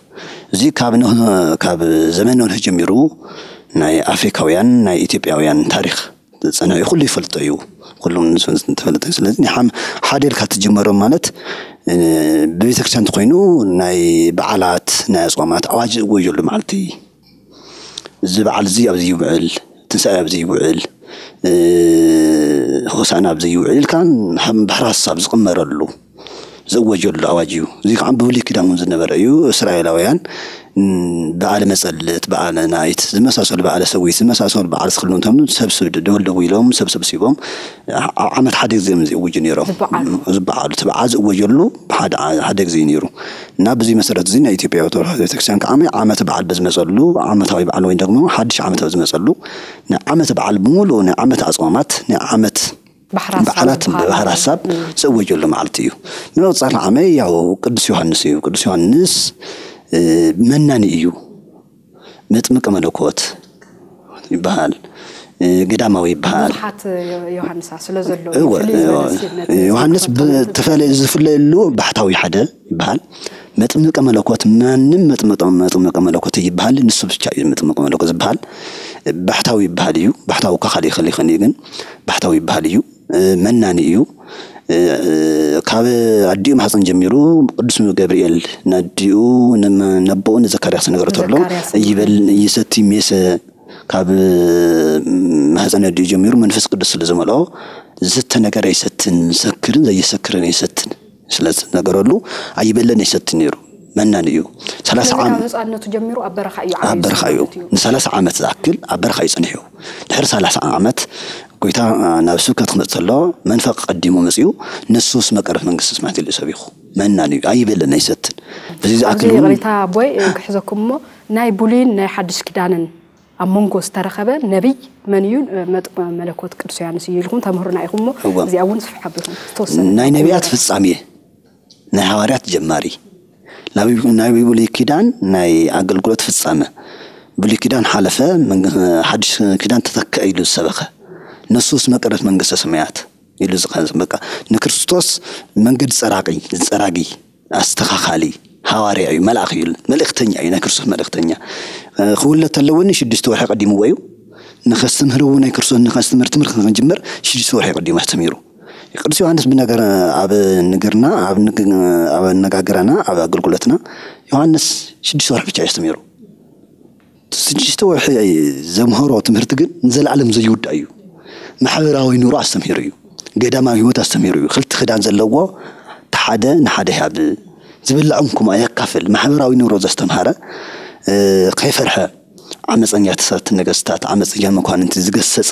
እዚ ካብ ካብ ዘመን ኖህ ጀሚሩ ናይ ኣፍሪካውያን ናይ ኢትዮጵያውያን ታሪክ ዝፀንሐ እዩ ኩሉ ይፈልጦ እዩ ኩሉም ተፈልጠ ስለዚ ሓደ ኢልካ ትጅመሮም ማለት ብቤተክርስትያን እንተኮይኑ ናይ በዓላት ናይ ኣፅዋማት ኣዋጅ ዝእወጀሉ መዓልቲ እዚ በዓል እዚ ኣብዚ ይውዕል ትንሳኤ ኣብዚ ይውዕል ሆሳና ኣብዚ ይውዕል ኢልካ ብሕራስ ኣብ ዝቕመረሉ ዝእወጀሉ ኣዋጅ እዩ። እዚ ከዓ ብብሉይ ኪዳን እውን ዝነበረ እዩ። እስራኤላውያን በዓለ መጸልት፣ በዓለ ናይት ዝመሳሰሉ በዓለ ሰዊት ዝመሳሰሉ በዓል ዝኽሉ እንተም ሰብስብ ደወልደው ኢሎም ሰብ ሰብሲቦም ኣብ ዓመት ሓደ ግዜ እዮም ዝእውጁ ነይሮም። ዝበዓሉ እቲ በዓል ዝእወጀሉ ሓደ ግዜ እዩ ነይሩ። እና ብዚ መሰረት እዚ ናይ ኢትዮጵያ ኦርቶዶክስ ቤተክርስትያን ከዓ ዓመት በዓል በዝመፀሉ ዓመታዊ በዓል ወይ ደግሞ ሓድሽ ዓመት በዝመፀሉ ናይ ዓመት በዓል ብምሉኡ ናይ ዓመት ኣፅዋማት ናይ ዓመት በዓላት ብባህር ሀሳብ ዝእወጀሉ መዓልቲ እዩ። ንመቁፃሪ ዓመይ ያው ቅዱስ ዮሃንስ እዩ። ቅዱስ ዮሃንስ መናኒ እዩ። መጥምቀ መለኮት ይበሃል። ገዳማዊ ይበሃል። ብዙሓት ዮሃንሳ ስለ ዘሎ እወ፣ ፍልይ ዝበለ እወ። ስነት ዮሃንስ ዝተኸተለ ብተፈለ ዝፍለየሉ ባሕታዊ ሓደ ይበሃል። መጥምቀ መለኮት ማንም መጥምቀ መጥምቀ መለኮት ይበሃል። ንሱ ብቻ እዩ መጥምቀ መለኮት ዝበሃል። ባሕታዊ ይበሃል እዩ። ባሕታዊ እኳ ካልእ ይኽእል ይኽእል እዩ ግን ባሕታዊ ይበሃል እዩ። መናኒ እዩ። ካብ ኣዲኡ ማህፀን ጀሚሩ ቅዱስ ገብርኤል ነዲኡ ነቦኡ ንዘካርያስ ነገሮ ተሎ ይበል ይሰቲ ሜሰ ካብ ማህፀን ኣዲኡ ጀሚሩ መንፈስ ቅዱስ ስለ ዝመልኦ ዝስተ ነገር ኣይሰትን ዝሰክርን ዘየሰክርን ኣይሰትን ስለ ዝነገረሉ ኣይበለን ኣይሰትን ነይሩ መናን እዩ። ሰላሳ ዓመት ህፃንነቱ ጀሚሩ ኣብ በረኻ እዩ ኣብ በረኻ እዩ። ንሰላሳ ዓመት ዝኣክል ኣብ በረኻ እዩ ፀኒሑ። ድሕሪ ሰላሳ ዓመት ጎይታ ናብ ስብከት ክመፅ ተሎ መንፈቅ ቀዲሙ መፅኡ ንሱስ መቀረት መንግስቲ ሰማያት ኢሉ ሰቢኹ መናን እዩ ኣይበለን ኣይሰትን። በዚ ዝኣክል እውን ይቕሬታ ኣቦይ ክሕዘኩም እሞ ናይ ብሉይን ናይ ሓድሽ ኪዳንን ኣብ መንጎ ዝተረኸበ ነቢይ መን እዩ? መጥምቀ መለኮት ቅዱስ ዮሃንስ እዩ ኢልኩም ተምህሩና ኢኹም እሞ እዚኣ እውን ስፍሕ ኣቢልኩም ዝተወሰነ ናይ ነቢያት ፍጻሜ ናይ ሃዋርያት ጀማሪ ናይ ብሉይ ኪዳን ናይ ኣገልግሎት ፍጻመ ብሉይ ኪዳን ሓለፈ ሓድሽ ኪዳን ተተክአ ኢሉ ዝሰበኸ ንሱስ መቀረት መንግስተ ሰማያት ኢሉ ዝኸ በቃ ንክርስቶስ መንገዲ ጸራቂ ጸራጊ ኣስተኻኻሊ ሃዋርያ እዩ መልኣኽ እዩ መልእኽተኛ እዩ ናይ ክርስቶስ መልእኽተኛ ክውለድ ተለወኒ ሽዱሽተ ወርሒ ቀዲምዎ እዩ ንኸስተምህርዎ ናይ ክርስቶስ ንኸስተምህር ትምህርቲ ክንጅምር ሽዱሽተ ወርሒ ቀዲሙ ኣስተሚሩ ቅዱስ ዮሃንስ ብነገር ኣብ ንግርና ኣብ ኣነጋገራና ኣብ ኣገልግሎትና ዮሃንስ ሽዱሽተ ወርሒ ብቻ እዩ ኣስተሚሩ ስድሽተ ወርሒ ዘምሀሮ ትምህርቲ ግን ንዘለኣለም ዘይውዳእ እዩ። ማሕበራዊ ኑሮ ኣስተምሂሩ እዩ። ገዳማዊ ህይወት ኣስተምሂሩ እዩ። ክልተ ክዳን ዘለዎ እቲ ሓደ ንሓደ ይሃብ፣ ዝብላዕ እውን ከምኡ የካፍል። ማሕበራዊ ኑሮ ዘስተምሃረ፣ ከይፈርሐ ዓመፀኛታት ነገስታት፣ ዓመፀኛ መኳንንቲ ዝገሰፀ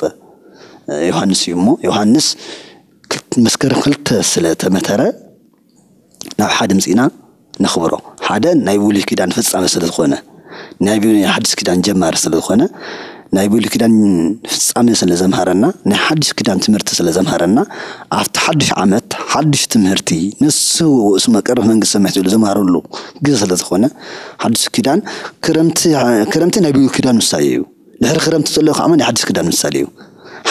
ዮሃንስ እዩ እሞ ዮሃንስ መስከረም ክልተ ስለ ተመተረ ናብ ሓደ ምፂና ነኽብሮ። ሓደ ናይ ብሉይ ኪዳን ፍጻመ ስለ ዝኾነ፣ ናይ ብ- ናይ ሓድሽ ኪዳን ጀማሪ ስለ ዝኾነ፣ ናይ ብሉይ ኪዳን ፍጻመ ስለ ዘምሃረና፣ ናይ ሓድሽ ኪዳን ትምህርቲ ስለ ዘምሃረና፣ ኣብቲ ሓድሽ ዓመት ሓድሽ ትምህርቲ ንሱ ውእሱ መቀርብ መንግስቲ ሰማያት ዝብሉ ዘምሃረሉ ግዜ ስለ ዝኾነ፣ ሓድሽ ኪዳን ክረምቲ ክረምቲ ናይ ብሉይ ኪዳን ምሳሌ እዩ። ድሕሪ ክረምቲ ዘሎ ከዓ ናይ ሓድሽ ኪዳን ምሳሌ እዩ።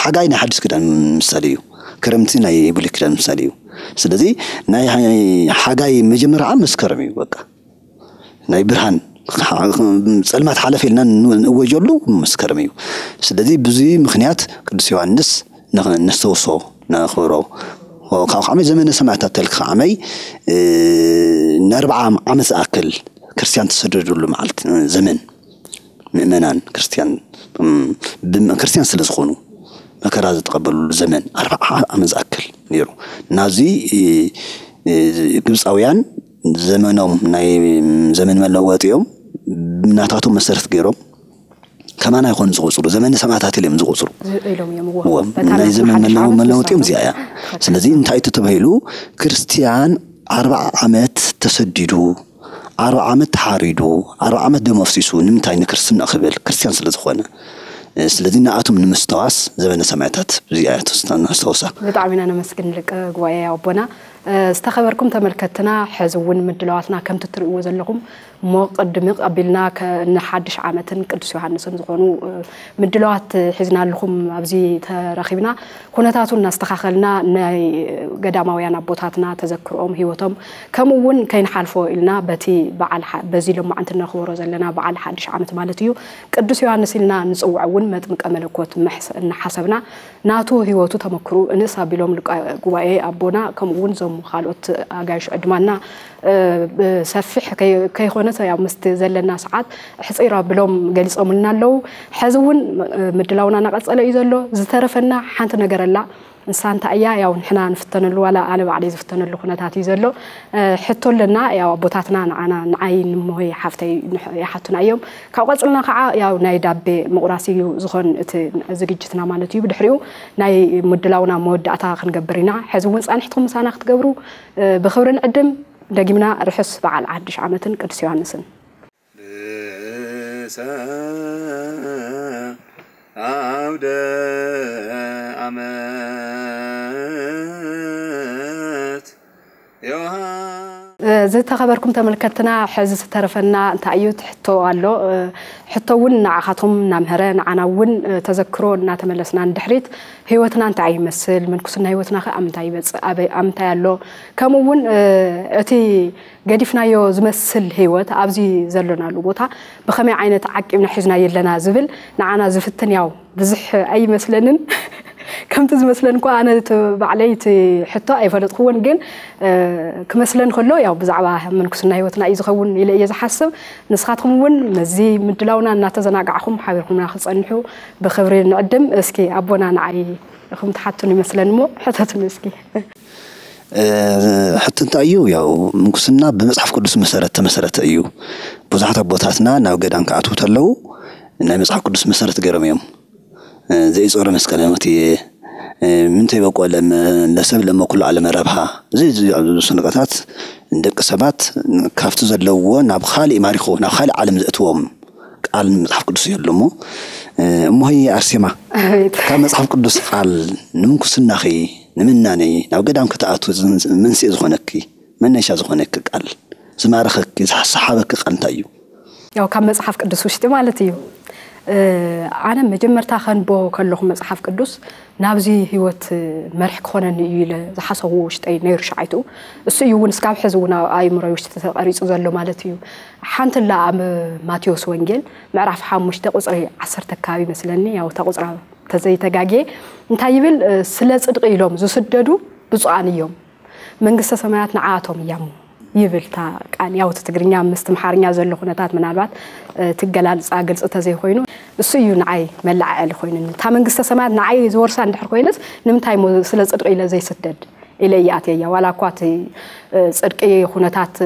ሓጋይ ናይ ሓድሽ ኪዳን ምሳሌ እዩ። ክረምቲ ናይ ብሉይ ኪዳን ምሳሌ እዩ። ስለዚ ናይ ሓጋይ መጀመርያ መስከረም እዩ። በቃ ናይ ብርሃን ጸልማት ሓለፈ ኢልና ንእወጀሉ መስከረም እዩ። ስለዚ ብዙ ምክንያት ቅዱስ ዮሃንስ ነስተውሶ ነኽብሮ። ካብ ዓመይ ዘመነ ሰማዕታት ተልክ ዓመይ ንኣርብዓ ዓመት ዝኣክል ክርስቲያን ተሰደዱሉ መዓልቲ ዘመን ምእመናን ክርስቲያን ክርስቲያን ስለ ዝኾኑ መከራ ዝተቐበሉሉ ዘመን ኣርብዓ ዓመት ዝኣክል ነይሩ። ናዚ ግብፃውያን ዘመኖም ናይ ዘመን መለወጢኦም ናታቶም መሰረት ገይሮም ከማና ይኾኑ ዝቆፅሩ ዘመን ሰማዕታት ኢሎም ዝቆፅሩ ኢሎም እዮም እዎ። እዎም በታ ናይ ናቱ ዘመን ሓድሽ መለወ ዓመት መለወጢኦም ምስታቱ እዚኣ እያ። ስለዚ እንታይ እቲ ተባሂሉ ክርስቲያን ኣርብዓ ዓመት ተሰዲዱ ኣርብዓ ዓመት ተሓሪዱ ኣርብዓ ዓመት ደም ኣፍሲሱ ንምንታይ ንክርስትና ክብል ክርስቲያን ስለ ዝኾነ ስለዚ ንኣቶም ንምስተዋስ ዘመነ ሰማዕታት እዚኣ እያ ተስታ- ነስተውሳ። ብጣዕሚ ኢና ነመስግን ሊቀ ጉባኤ ኣቦና። ዝተኸበርኩም ተመልከትና ሕዚ እውን ምድላዋትና ከምቲ ትርእይዎ ዘለኹም ሞቕ ድምቕ ኣቢልና ንሓድሽ ዓመትን ቅዱስ ዮሃንስን ዝኾኑ ምድላዋት ሒዝናልኹም ኣብዚ ተረኺብና ኩነታቱ እናስተኻኸልና ናይ ገዳማውያን ኣቦታትና ተዘክርኦም ህይወቶም ከምኡ እውን ከይንሓልፎ ኢልና በቲ በዓል በዚ ሎማዓንቲ እነኽብሮ ዘለና በዓል ሓድሽ ዓመት ማለት እዩ ቅዱስ ዮሃንስ ኢልና ንፅውዖ እውን መጥምቀ መለኮት እናሓሰብና ናቱ ህይወቱ ተመክርኡ እንእስ ኣቢሎም ሊቀ ጉባኤ ኣቦና ከምኡ እውን እዞም ካልኦት ኣጋይሽ ዕድማና ብሰፊሕ ከይኮነስ ያው ምስቲ ዘለና ሰዓት ሕፂር ኣቢሎም ገሊፆምልና ኣለዉ። ሕዚ እውን ምድላውና እናቐፀለ እዩ ዘሎ። ዝተረፈና ሓንቲ ነገር ኣላ። ንሳ እንታይ እያ ያው ንሕና ንፍተነሉ ዋላ ኣነ ባዕለይ ዝፍተነሉ ኩነታት እዩ ዘሎ። ሕቶ ኣለና ያው ኣቦታትና ንዓና ንዓይ ንሞሆይ ሓፍተይ ይሓቱና እዮም። ካብ ቀፅልና ከዓ ያው ናይ ዳቤ ምቑራስ እዩ ዝኾን እቲ ዝግጅትና ማለት እዩ። ብድሕሪኡ ናይ ምድላውና መወዳእታ ክንገብር ኢና። ሕዚ እውን ፃንሕትኩም ምሳና ክትገብሩ ብኽብሪ ንዕድም። ደጊምና ርሑስ በዓል ሓድሽ ዓመትን ቅዱስ ዮሃንስን። ርእሰ ኣውደ ዓመት ዮሃ ዝተኸበርኩም ተመልከትና ሕዚ ዝተረፈና እንታይ እዩ ትሕቶ ኣሎ። ሕቶ እውን ንዓኻትኩም እናምህረ ንዓና እውን ተዘክሮ እናተመለስና ንድሕሪት ህይወትና እንታይ ይመስል፣ ምንኩስና ህይወትና ከ ኣብ ምንታይ ይበፅእ፣ ኣበይ ኣብ ምንታይ ኣሎ፣ ከምኡ እውን እቲ ገዲፍናዮ ዝመስል ህይወት ኣብዚ ዘለናሉ ቦታ ብኸመይ ዓይነት ዓቂብና ሒዝናዮ ኣለና ዝብል ንዓና ዝፍትን ያው ብዙሕ ኣይመስለንን። ከምቲ ዝመስለኒ እኳ ኣነ እቲ ባዕለይ እቲ ሕቶ ኣይፈለጥክዎን፣ ግን ክመስለኒ ከሎ ያው ብዛዕባ ምንኩስና ህይወትና እዩ ዝኸውን ኢለ እየ ዝሓስብ። ንስኻትኩም እውን ነዚ ምድላውና እናተዘናጋዕኹም ሓቢርኩምና ክፀንሑ ብኽብሪ ንዕድም። እስኪ ኣቦና ንዓይ ኢኹም ትሓቱን ይመስለኒ እሞ ሕተቱን እስኪ። ሕቶ እንታይ እዩ? ያው ምንኩስና ብመፅሓፍ ቅዱስ መሰረት ተመሰረተ እዩ። ብዙሓት ኣቦታትና ናብ ገዳም ክኣትዉ ተለዉ ናይ መፅሓፍ ቅዱስ መሰረት ገይሮም እዮም። ዘኢጾረ መስቀለ መክትየ ምንተ ይበቆ ለሰብ ለመ ኩሉ ዓለም ረብሃ እዚ ዝብሉ ስንቀታት ንደቂ ሰባት ካብቲ ዘለውዎ ናብ ካሊእ ማሪኹ ናብ ካሊእ ዓለም ዘእትዎም ቃል መጽሓፍ ቅዱስ እዩ ኣሎ እሞ እሞሆይ ኣርሴማ ካብ መጽሓፍ ቅዱስ ቃል ንምንኩስናኺ ንምናነይ ናብ ገዳም ከተኣቱ መንስኤ ዝኾነኪ መነሻ ዝኾነኪ ቃል ዝማረኸኪ ዝሓሰሓበኪ ቃል እንታይ እዩ? ያው ካብ መጽሓፍ ቅዱስ ውሽጢ ማለት እዩ። ኣነ መጀመርታ ከንቦ ከለኹ መጽሓፍ ቅዱስ ናብዚ ህይወት መርሒ ክኾነኒ እዩ ኢለ ዝሓሰብዎ ውሽጠይ ነይሩ ሻዓይትኡ። እሱ እዩ እውን እስካብ ሕዚ እውን ኣብ ኣእምሮይ ውሽጢ ተቐሪፁ ዘሎ ማለት እዩ። ሓንቲ ላ ኣብ ማቴዎስ ወንጌል ምዕራፍ ሓሙሽተ ቁፅሪ ዓሰርተ ኣካባቢ ይመስለኒ፣ ያው እታ ቁፅራ ተዘይተጋግየ እንታይ ይብል? ስለ ፅድቂ ኢሎም ዝስደዱ ብፁዓን እዮም መንግስተ ሰማያት ንዓቶም እያሞ ይብል እታ ቃል። ያው እቲ ትግርኛ ምስቲ ኣምሓርኛ ዘሎ ኩነታት ምናልባት እቲ ኣገላልፃ ግልፂ ተዘይኮይኑ እሱ እዩ ንዓይ መለዓዐሊ ኮይኑኒ። እታ መንግስተ ሰማያት ንዓይ ዝወርሳ እንድሕር ኮይነስ ንምንታይ እሞ ስለ ፅድቂ ኢለ ዘይስደድ ኢለ እየ ኣትየያ። ዋላ እኳ እቲ ፅድቂ ኩነታት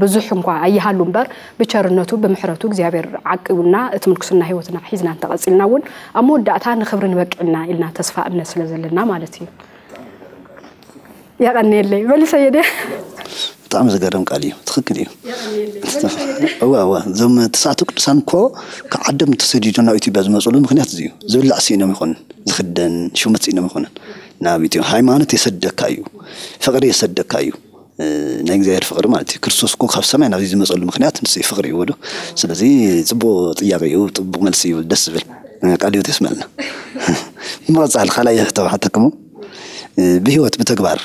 ብዙሕ እንኳ ኣይሃሉ እምበር ብቸርነቱ ብምሕረቱ እግዚኣብሔር ዓቂቡና እቲ ምንኩስና ህይወትና ሒዝና እንተቐፂልና እውን ኣብ መወዳእታ ንኽብሪ ንበቅዕ ኢና ኢልና ተስፋ እምነት ስለ ዘለና ማለት እዩ። የቐንየለይ መሊሰዮ ድየ? ብጣዕሚ ዘገርም ቃል እዩ። ትኽክል እዩ። እዋ እዋ፣ እዞም ተስዓቱ ቅዱሳን እኮ ካብ ዓዶም ተሰዲዶም ናብ ኢትዮጵያ ዝመፅሉ ምክንያት እዚ እዩ። ዝብላዕ ስኢኖም ይኾኑን፣ ዝኽደን ሽመት ስኢኖም ይኾኑን። ናብ ኢትዮ ሃይማኖት የሰደካ እዩ፣ ፍቕሪ የሰደካ እዩ። ናይ እግዚኣብሔር ፍቕሪ ማለት እዩ። ክርስቶስ እኮ ካብ ሰማይ ናብዚ ዝመፀሉ ምክንያት ንሱ እዩ፣ ፍቕሪ እዩ ወዶ። ስለዚ ፅቡቕ ጥያቄ እዩ፣ ፅቡቕ መልሲ እዩ፣ ደስ ዝብል። ቃል ህይወት የስመልና። ብምቕፃል ካልኣይ ሕቶ ሓተክሙ፣ ብህይወት ብተግባር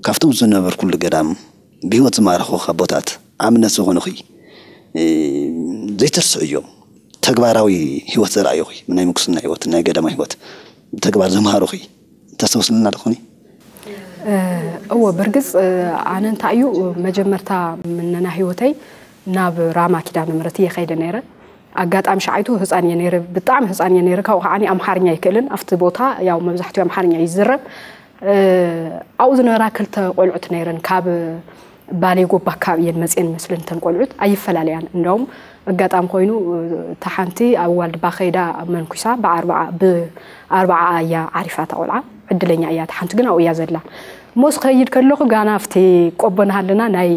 ካብቶም ዝነበርኩሉ ገዳም ብህይወት ዝማረኹ ኣቦታት ኣብነት ዝኾኑኺ፣ ዘይተርስዑ እዮም። ተግባራዊ ህይወት ዘርኣዩኺ፣ ናይ ምንኩስና ህይወት፣ ናይ ገዳማ ህይወት ብተግባር ዘምሃሩኺ ተስተውስልና ዶ ኾኒ? እወ፣ ብርግጽ ኣነ እንታይ እዩ፣ መጀመርታ ምነና ህይወተይ ናብ ራማ ኪዳነ ምሕረት እየ ከይደ ነይረ። ኣጋጣሚ ሸዓይቱ ህፃን እየ ነይረ፣ ብጣዕሚ ህፃን እየ ነይረ። ካብኡ ከዓኒ ኣምሓርኛ ኣይክእልን። ኣብቲ ቦታ ያው መብዛሕትኡ ኣምሓርኛ እዩ ዝዝረብ። ኣብኡ ዝነበራ ክልተ ቆልዑት ነይረን፣ ካብ ባሌ ጎባ ኣካባቢ እየን መፅየን መስለን እተን ቆልዑት። ኣይፈላለያን። እንደውም ኣጋጣሚ ኮይኑ እታ ሓንቲ ኣብ ዋልድባ ከይዳ መንኩሳ ብኣርባዓ ብኣርባዓ እያ ዓሪፋ እታ ቆልዓ። ዕድለኛ እያ። እታ ሓንቲ ግን ኣብኡ እያ ዘላ። እሞ ስኸይድ ከለኹ ጋና ኣብቲ ቆቦ ናሃለና ናይ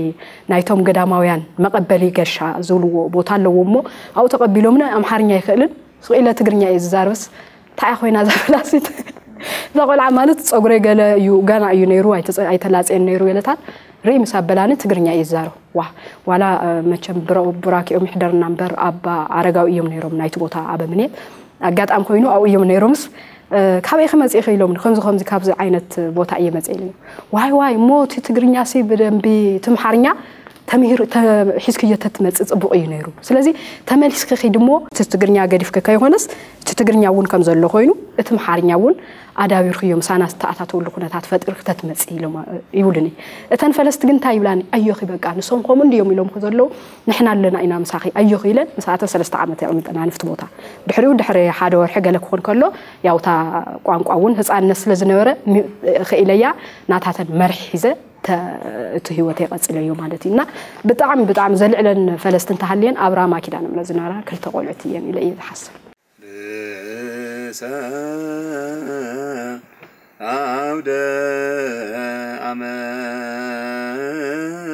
ናይቶም ገዳማውያን መቐበሊ ገሻ ዝብልዎ ቦታ ኣለዎ። እሞ ኣብኡ ተቐቢሎምኒ። ኣምሓርኛ ኣይክእልን፣ ስቕ ኢለ ትግርኛ እየ ዝዛርብስ። እንታይ ኮይና እዛ ፈላሲት? እዛ ቆልዓ ማለት ፀጉረይ ገለ እዩ፣ ጋና እዩ ነይሩ፣ ኣይተላፀየን ነይሩ ገለታት ርኢ ምስ ኣበላኒ ትግርኛ እየ ዝዛረብ። ዋ ዋላ መቸም ብራኪኦም ይሕደርና እምበር ኣባ ኣረጋዊ እዮም ነይሮም ናይቲ ቦታ ኣበምኔት። ኣጋጣሚ ኮይኑ ኣብኡ እዮም ነይሮምስ፣ ካበይ ክመፅእ ኢሎም፣ ከምዚ ከምዚ ካብዚ ዓይነት ቦታ እየ መፅእ ኢሎም። ዋይ ዋይ፣ እሞ እቲ ትግርኛ ሲ ብደንቢ ትምሓርኛ ተምሂር ሒዝክዮ ተትመፅእ ፅቡቕ እዩ ነይሩ። ስለዚ ተመሊስኪ ኪዲ እሞ እቲ ትግርኛ ገዲፍኪ ከይኮነስ፣ እቲ ትግርኛ እውን ከም ዘሎ ኮይኑ እቲ ምሓርኛ እውን ኣዳቢርክዮ ምሳና ዝተኣታተውሉ ኩነታት ፈጢርኪ ተትመፂ ኢሎም ይብሉኒ። እተን ፈለስቲ ግን እንታይ ይብላኒ፣ ኣዮኺ በቃ ንሶም ከምኡ እንድዮም ኢሎምኪ ዘለዉ፣ ንሕና ኣለና ኢና ምሳኺ፣ ኣዮኺ ኢለን ምሳኣተን ሰለስተ ዓመት የቕምጠና ንፍቲ ቦታ። ድሕሪኡ ድሕሪ ሓደ ወርሒ ገለ ክኾን ከሎ ያው እታ ቋንቋ እውን ህፃንነት ስለ ዝነበረ ክኢለያ ናታተን መርሒ ሒዘ እቲ ህይወተይ ቀፂለዮ ማለት እዩ። እና ብጣዕሚ ብጣዕሚ ዘልዕለን ፈለስቲ እንተሃልየን ኣብ ራማ ኪዳነ ምሕረት ዝነበራ ክልተ ቆልዑት እየን ኢለ እየ ዝሓስብ። ርእሰ ኣውደ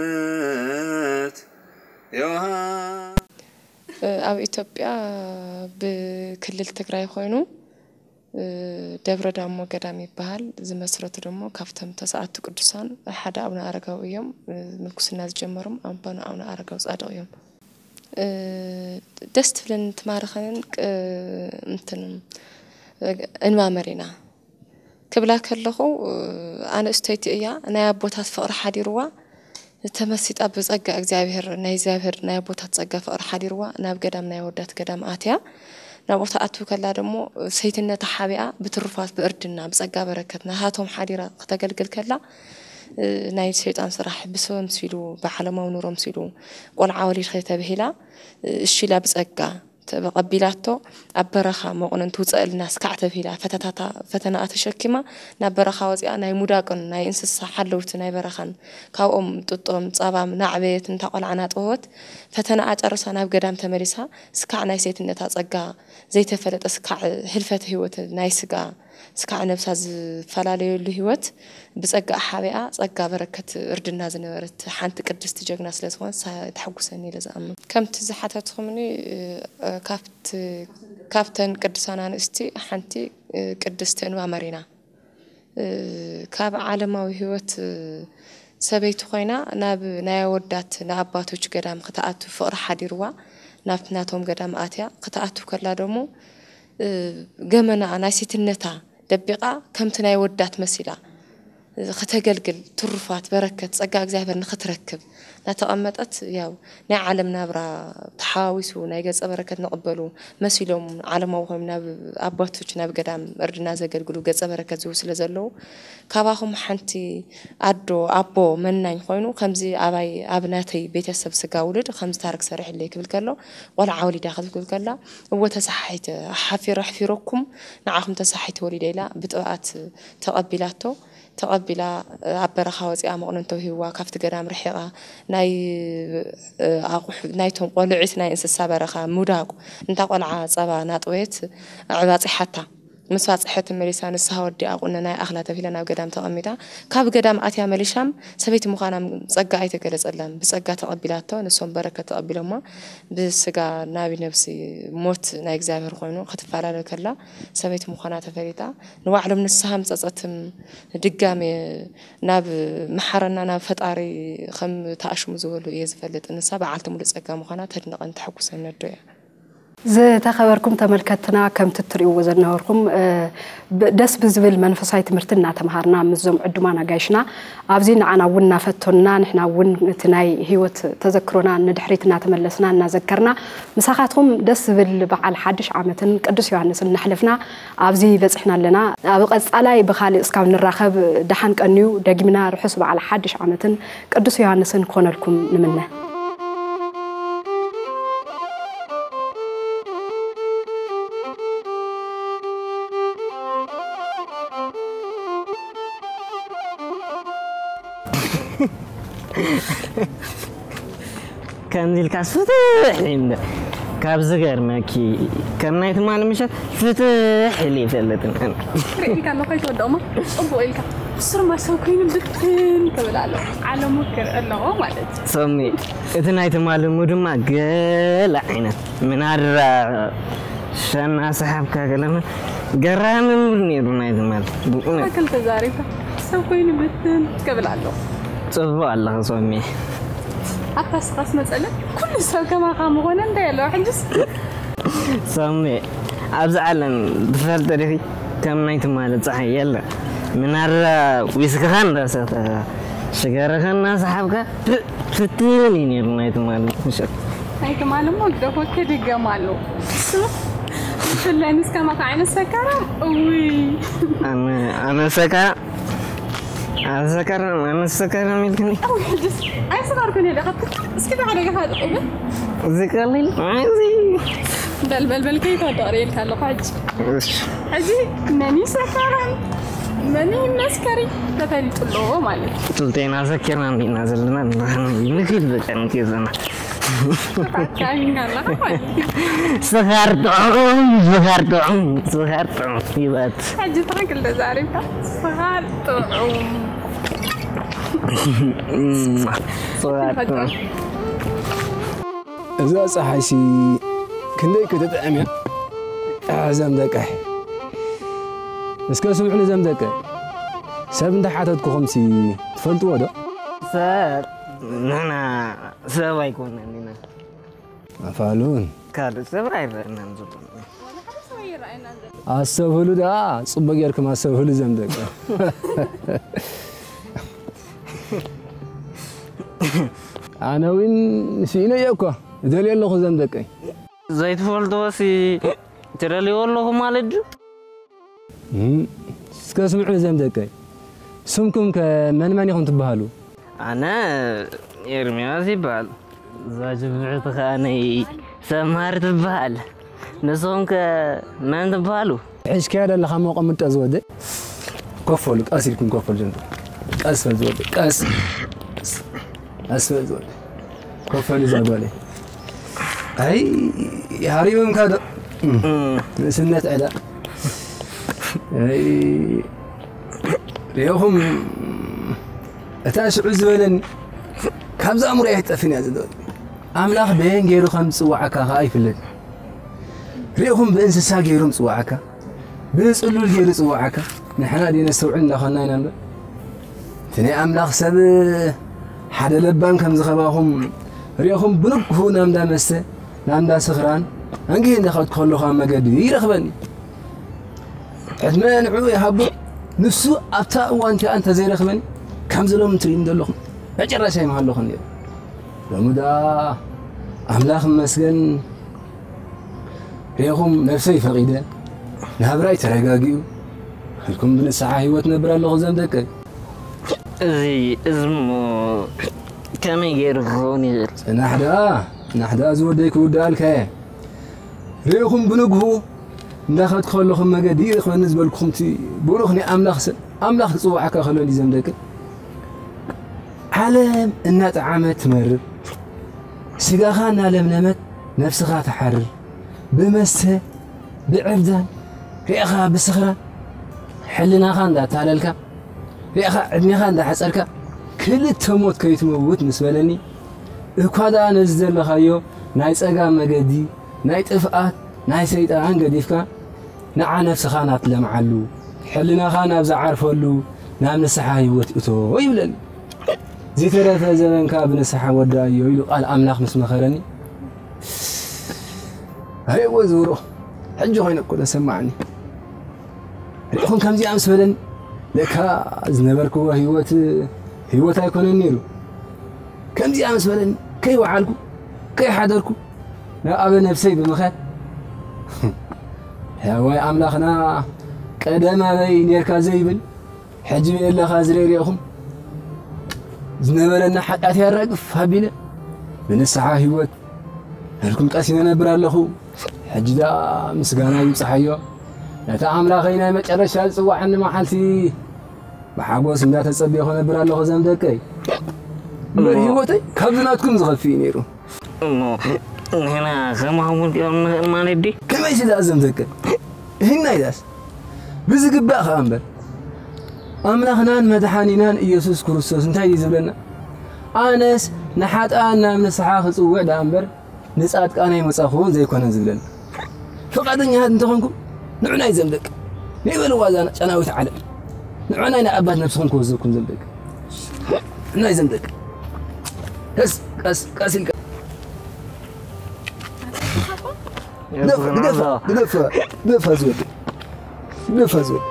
ኣመት ዮሃ ኣብ ኢትዮጵያ ብክልል ትግራይ ኮይኑ ደብረ ዳሞ ገዳም ይበሃል። ዝመስረቱ ደሞ ካብቶም ተስዓቱ ቅዱሳን ሓደ ኣቡነ ኣረጋዊ እዮም። ምንኩስና ዝጀመሩም ኣቦና ኣቡነ ኣረጋዊ ጻድቕ እዮም። ደስ ትብለንን ትማርኸንን እንትን እንባ መሪና ክብላ ከለኹ ኣንእስተይቲ እያ። ናይ ኣቦታት ፍቕሪ ሓዲርዋ ተመሲጣ ብጸጋ እግዚኣብሔር ናይ እግዚኣብሔር ናይ ኣቦታት ጸጋ ፍቕሪ ሓዲርዋ ናብ ገዳም ናይ ኣወዳት ገዳም ኣትያ። ናብኡ ትኣቱ ከላ ደሞ ሰይትነታ ሓቢኣ ብትሩፋት ብእርድና ብጸጋ በረከት ናሃቶም ሓዲራ ክተገልግል ከላ ናይ ሰይጣን ስራሕ ብሰብ ኣምሲሉ ብዓለማዊ ኑሮ ኣምሲሉ ቆልዓ ወሊድኺ ተብሂላ እሺ ኢላ ብጸጋ ተቐቢላቶ ኣብ በረኻ መቑነን ትውፀእልና ስካዕ ተብሂላ ፈተታታ ፈተናኣ ተሸኪማ ናብ በረኻ ወፂኣ ናይ ሙዳቅን ናይ እንስሳ ሓለውቲ ናይ በረኻን ካብኦም ጥጦም ፃባም ናዕበየት እንታ ቆልዓ ናጠወት ፈተናኣ ጨርሳ ናብ ገዳም ተመሊሳ ስካዕ ናይ ሴትነታ ፀጋ ዘይተፈለጠ ስካዕ ህልፈተ ህይወት ናይ ስጋ ስካዕ ነብሳ ዝፈላለየሉ ህይወት ብጸጋ ሓቢኣ ጸጋ በረከት እርድና ዝነበረት ሓንቲ ቅድስቲ ጀግና ስለ ዝኾነት ንሳ ተሐጉሰኒ ኢለ ዝኣምን። ከምቲ ዝሓተትኹምኒ ካብቲ ካብተን ቅዱሳን ኣንስቲ ሓንቲ ቅድስቲ እንባ መሪና ካብ ዓለማዊ ህይወት ሰበይቲ ኮይና ናብ ናይ ኣወዳት ንኣባቶች ገዳም ክትኣቱ ፍቕሪ ሓዲርዋ ናብቲ ናቶም ገዳም ኣትያ ክትኣቱ ከላ ደሞ ገመናኣ ናይ ሴትነታ ደቢቓ ከምቲ ናይ ወዳት መሲላ ክተገልግል ትሩፋት በረከት ጸጋ እግዚኣብሔር ንክትረክብ እናተቐመጠት ያው ናይ ዓለም ናብራ ተሓዋዊሱ ናይ ገጸ በረከት ንቕበሉ መሲሎም ዓለማዊ ኮይኖም ናብ ኣባቶች ናብ ገዳም እርድና ዘገልግሉ ገጸ በረከት ዝህቡ ስለ ዘለዉ ካባኹም ሓንቲ ኣዶ ኣቦ መናኝ ኮይኑ ከምዚ ኣባይ ኣብ ናተይ ቤተሰብ ስጋ ውልድ ከምዚ ታርክ ሰሪሕለይ ክብል ከሎ ቆልዓ ወሊዳ ክትብል ከላ እወ ተሳሓሒተ ሓፊረ ኣሕፊረኩም ንዓኹም ተሳሓሒተ ወሊደ ኢላ ብጥብኣት ተቐቢላቶ ተቐቢላ ኣብ በረኻ ወፂኣ መቑነን ተውሂብዋ ካብቲ ገዳም ርሒቓ ናይ ኣቑሑ ናይቶም ቆልዒት ናይ እንስሳ በረኻ ምውዳቑ እንታ ቆልዓ ፀባ ናጥወየት ኣዕባፂሓታ ምስ ባጽሐት መሊሳ ንስኻ ወዲኣ ቁነና ይኣኽላ ተብሂላ ናብ ገዳም ተቐሚጣ። ካብ ገዳም ኣትያ መሊሻም ሰበይቲ ምዃና ጸጋ ኣይተገለጸላን። ብጸጋ ተቐቢላቶ፣ ንሶም በረከት ተቐቢሎማ። ብስጋ ናቢ ነብሲ ሞት ናይ እግዚኣብሔር ኮይኑ ክትፈላለ ከላ ሰበይቲ ምዃና ተፈሊጣ። ንባዕሎም ንስሃም ጸጸትም ድጋሜ ናብ መሓረና ናብ ፈጣሪ ከም ተኣሽሙ ዝበሉ እየ ዝፈልጥ። ንሳ በዓልቲ ሙሉእ ጸጋ ምዃና ተድንቐን ተሐጉሰን ነዶ እያ። ዝተኸበርኩም ተመልከትና፣ ከምቲ እትርእይዎ ዝነበርኩም፣ እ፣ ብ-፣ ደስ ብዝብል መንፈሳዊ ትምህርቲ እናተምሃርና ምስዞም ዕዱማን ኣጋይሽና ኣብዚ ንዓና እውን እናፈተኑና፣ ንሕና እውን እቲ ናይ ህይወት ተዘክሮና ንድሕሪት እናተመለስና እናዘከርና ምሳኻትኩም ደስ ዝብል በዓል ሓድሽ ዓመትን ቅዱስ ዮሃንስን እናሕለፍና ኣብዚ በጺሕና ኣለና። ኣብ ቀጻላይ ብኻልእ እስካብ ንራኸብ ደሓን ቀንዩ፣ ደጊምና ርሑስ በዓል ሓድሽ ዓመትን ቅዱስ ዮሃንስን ክኾነልኩም ንምነ። ከምዚ ኢልካ ፍትሕ ኢለ ካብ ዝገርመኪ ከም ናይ ትማሊ ምሸት ፍትሕ ኢለ ይፈልጥን ኣነ። ርኢልካ ኣለኹ ኣይትወድኦማ። ጽቡቕ ኢልካ። ስርማ ሰብ ኮይኑ ብትን ክብል ኣለዎ። ዓለሙ ክርኢ ኣለዎ ማለት እዩ። ሶሚ፣ እቲ ናይ ትማሊ ሙድማ ገለ ዓይነት ምናድራ ሸና ሰሓብካ ገለመ ገራሚ ሙድ ነይሩ ናይ ትማሊ። ብእውነት። ትኽክል ተዛሪብካ። ሰብ ኮይኑ ብትን ክብል ኣለዎ። ጽቡቕ ኣለኺ ሶሚ። ኣታ ስኻስ መጸለይ ኩሉ ሰብ ከማኻ ምኾነ እንታይ ኣለዎ ሕጅስ? ሶሚ፣ ኣብዚ ዓለም ትፈልጢ ዲኺ ከም ናይ ትማሊ ጸሓይ የለ። ምናድራ ዊስክኻ እንዳሰተ ሽጋራኻ እናሰሓብካ ፍ-፣ ፍትን እዩ ነይሩ ናይ ትማሊ ምሸት። ናይ ትማሊ እሞ ደኾ ክድገም ኣለዎ። ብፍላይ ምስ ከማኻ ዓይነት ሰካራም፣ እውይ። ኣነ፣ ኣነ ሰካራም፣ ኣነ ሰካራም፣ ኣነ ሰካራም ኢልክኒ። እውይ፣ ሕጅስ ኣይሰኻርኩን እየ ደኣ። እስኪ ብሓደ ገኻ ጥቕብል። እዚ ቀሊል፣ እዚ። በል፣ በል፣ በል፣ ከይተወደቕ ርእየልካ ኣለኹ ሕጂ። እሺ። ሕጂ መን እዩ ሰካራም፣ መን እዩ መስከሪ ተፈሊጡ ኣሎ ማለት እዩ። ክልቴና ሰኪርና እንዲና ዘለና ንኽድ በቃ ንኬዘና። ተታካቢና ኣለኻ ማለት እዩ። ስኻር ጥዑም፣ ስኻር ጥዑም፣ ስኻር ጥዑም ይበል። ሕጂ ትኽክል ተዛሪብካ። ስኻር ጥዑም። ስኻር ጥዑም። እዛ ጸሓይሲ ክንደይ ክትጥዕም እያ። እዞም ደቀይ። እስከ ስምዑኒ እዞም ደቀይ። ሰብ እንተሓተትኩኹምሲ ትፈልጥዎ ዶ? ሰብ፣ ንሕና ሰብ ኣይኮነን ኢና። ኣፋሉን። ካልእ ሰብ ኣይረኣናን ዘሎ። ኣስተብህሉ ደኣ፣ ጽቡቕ ጌርኩም ኣስተብህሉ እዞም ደቀይ። ኣነ እውን ስኢነ እየ እኮ፣ እደልዮ ኣለኹ እዞም ደቀይ። ዘይትፈልጥዎሲ ትደልይዎ ኣለኹ ማለት ድዩ? እም፣ እስከ ስምዑ እዞም ደቀይ። ስምኩም ከ መን መን ኢኹም ትበሃሉ? ኣነ ኤርምያስ ይበሃል። እዛ ጅምዕቲ ኸኣ ናይ ሰምሃር ትበሃል። ንስኹም ከ መን ትበሃሉ? ሕዝካዮ ዘለኻ እሞ ቀምጦ ዝወደይ። ኮፍ በሉ፣ ቀስ ኢልኩም ኮፍ በሉ ጀምሩ። ቀስ በል ዝወደይ፣ ቀስ። ቀስ፣ ቀስ በል ዝወደይ። ኮፍ በሉ እዛ ጓለይ። ኣይ፣ ሃሪምካ ዶ? ንእስነት ዕዳ። ኣይ፣ ሪኢኹም፣ እታ ሽዑ ዝበለኒ፣ ካብዛ ኣእምሮይ ኣይትጠፍእን እያ ዝብለኒ። ኣምላኽ በየን ገይሩ ከም ዝጽውዓካ ከኣ ይፍለጥ። ርኢኹም ብእንስሳ ገይሩ ምጽዋዓካ፣ ብጽሉል ገይሩ ጽዋዓካ፣ ንሕና ድዩ ነስተውዕል እንዳኾንና ኢና እምበር። እቲ ናይ ኣምላኽ ሰብ ሓደ ለባም ከም ዝኸባኹም ርኢኹም ብንግሁ ናብ እንዳ መስተ፣ ናብ እንዳ ስኽራን፣ ኣንጊሁ እንዳኸድኩ ከለኹ ኣብ መገዲ ይረኽበኒ። ዕድመ ንዕኡ ይሃቦ፣ ንሱ ኣብታ እዋን እቲኣ እንተዘይረኽበኒ፣ ከምዚ ሎሚ ትርእይኒ ዘለኹም፣ መጨረሻ ኣይምሃለኹን ነይሩ። ሎሚ ደኣ ኣምላኽ ይመስገን፣ ርኢኹም ነብሰይ ፈቒደ፣ ናብራይ ተረጋጊኡ፣ ኢልኩም ብንስሓ ህይወት ነብር ኣለኹ እዞም ደቀይ። እዚ፣ እዚ እሞ ከመይ ገይሩ ክኸውን ይኽእል? ጽናሕ ደኣ፣ ጽናሕ ደኣ ዝወደይ ክውድኣልካ እየ። ርኢኹም ብንግሁ እንዳኸድኩ ከለኹም መገዲ ይረኽበኒ ዝበልኩኹም እቲ ብሩኽ ናይ ኣምላኽ ሰብ፣ ኣምላኽ ክጽውዓካ ከሎ እንዲ እዞም ደቀይ። ዓለም እናጠዓመት ትመርር፣ ስጋኻ እናለምለመት ነፍስኻ ትሓርር፣ ብመስተ፣ ብዕብዳን፣ ርኢኻ ብስኽራ ሕልናኻ እንዳታለልካ፣ ርኢኻ ዕድሜኻ እንዳሓጸርካ፣ ክልተ ሞት ከይትመውት ምስ በለኒ፣ እኳ ደኣ ነዚ ዘለኻዮ ናይ ጸጋም መገዲ፣ ናይ ጥፍኣት፣ ናይ ሰይጣን ገዲፍካ፣ ንዓ ነፍስኻ ናብ ትለምዓሉ፣ ሕልናኻ ናብ ዝዓርፈሉ፣ ናብ ንስሓ ህይወት እቶ ይብለኒ። "ዝተረፈ ዘበንካ ብንስሓ ወዳእዮ" ኢሉ ቃል ኣምላኽ ምስ መኸረኒ፣ "ኣየወ ዝብሮ፣ ሕጂ ኮይነ እኮ ተሰማዕኒ። ርኢኹም ከምዚኣ ምስ በለኒ፣ ለካ ዝነበርክዎ ህይወት፣ ህይወት ኣይኮነን ነይሩ። ከምዚኣ ምስ በለኒ፣ ከይወዓልኩ፣ ከይሓደርኩ፣ ናብ ኣበ ነፍሰይ ብምኻድ፣ ሕያዋይ ኣምላኽና ቀደም ኣበይ ኔርካ ዘይብል፣ ሕጂ በየለኻ ዝርኢ ርኢኹም፣ ዝነበረና ሓጢኣት ያራግፍ ኣቢለ፣ ብንስሓ ህይወት፣ ነርኩም ቀሲነ ነብር ኣለኹ። ሕጂ ደኣ ምስጋና ይብጽሓዮ፣ ነቲ ኣምላኸይ ናይ መጨረሻ ዝጽዋዓኒ መዓልቲ ብሓጎስ እንዳተጸበኹ ነብር ኣለኹ ዘም ደቀይ። እምበር ህይወተይ ካብዚ ናትኩም ዝኸፍእ እዩ ነይሩ። እሞ ንሕና ከማኹም ክንሪኦም ንኽእል ማለት ድዩ? ከመይሲ ደኣ ዘም ደቀይ? ይህና ኢዳስ? ብዝግባእ ኸኣ እምበር፣ ኣምላኽናን መድሓኒናን ኢየሱስ ክርስቶስ እንታይ እዩ ዝብለና? "ኣነስ ንሓጥኣን ናብ ንስሓ ክጽውዕ ደኣ እምበር፣ ንጻድቃን ኣይመጻኹን ዘይኮነን" ዝብለና። ፍቓደኛታት እንተኾንኩም፣ ንዑናይ ዘም ደቂ፣ ንይበልዋ እዛ ጨናዊት ዓለም። ንዑናይ ንኣባት ነብስኹም ክወዘኩም ዘም ደቂ። ንዑናይ ዘም ደቂ። ቀስ፣ ቀስ፣ ቀስ ኢልካ። ግደፋ፣ ግደፋ፣ ግደፋ፣ ግደፋ ዝወደይ። ግደፋ ዝወደይ።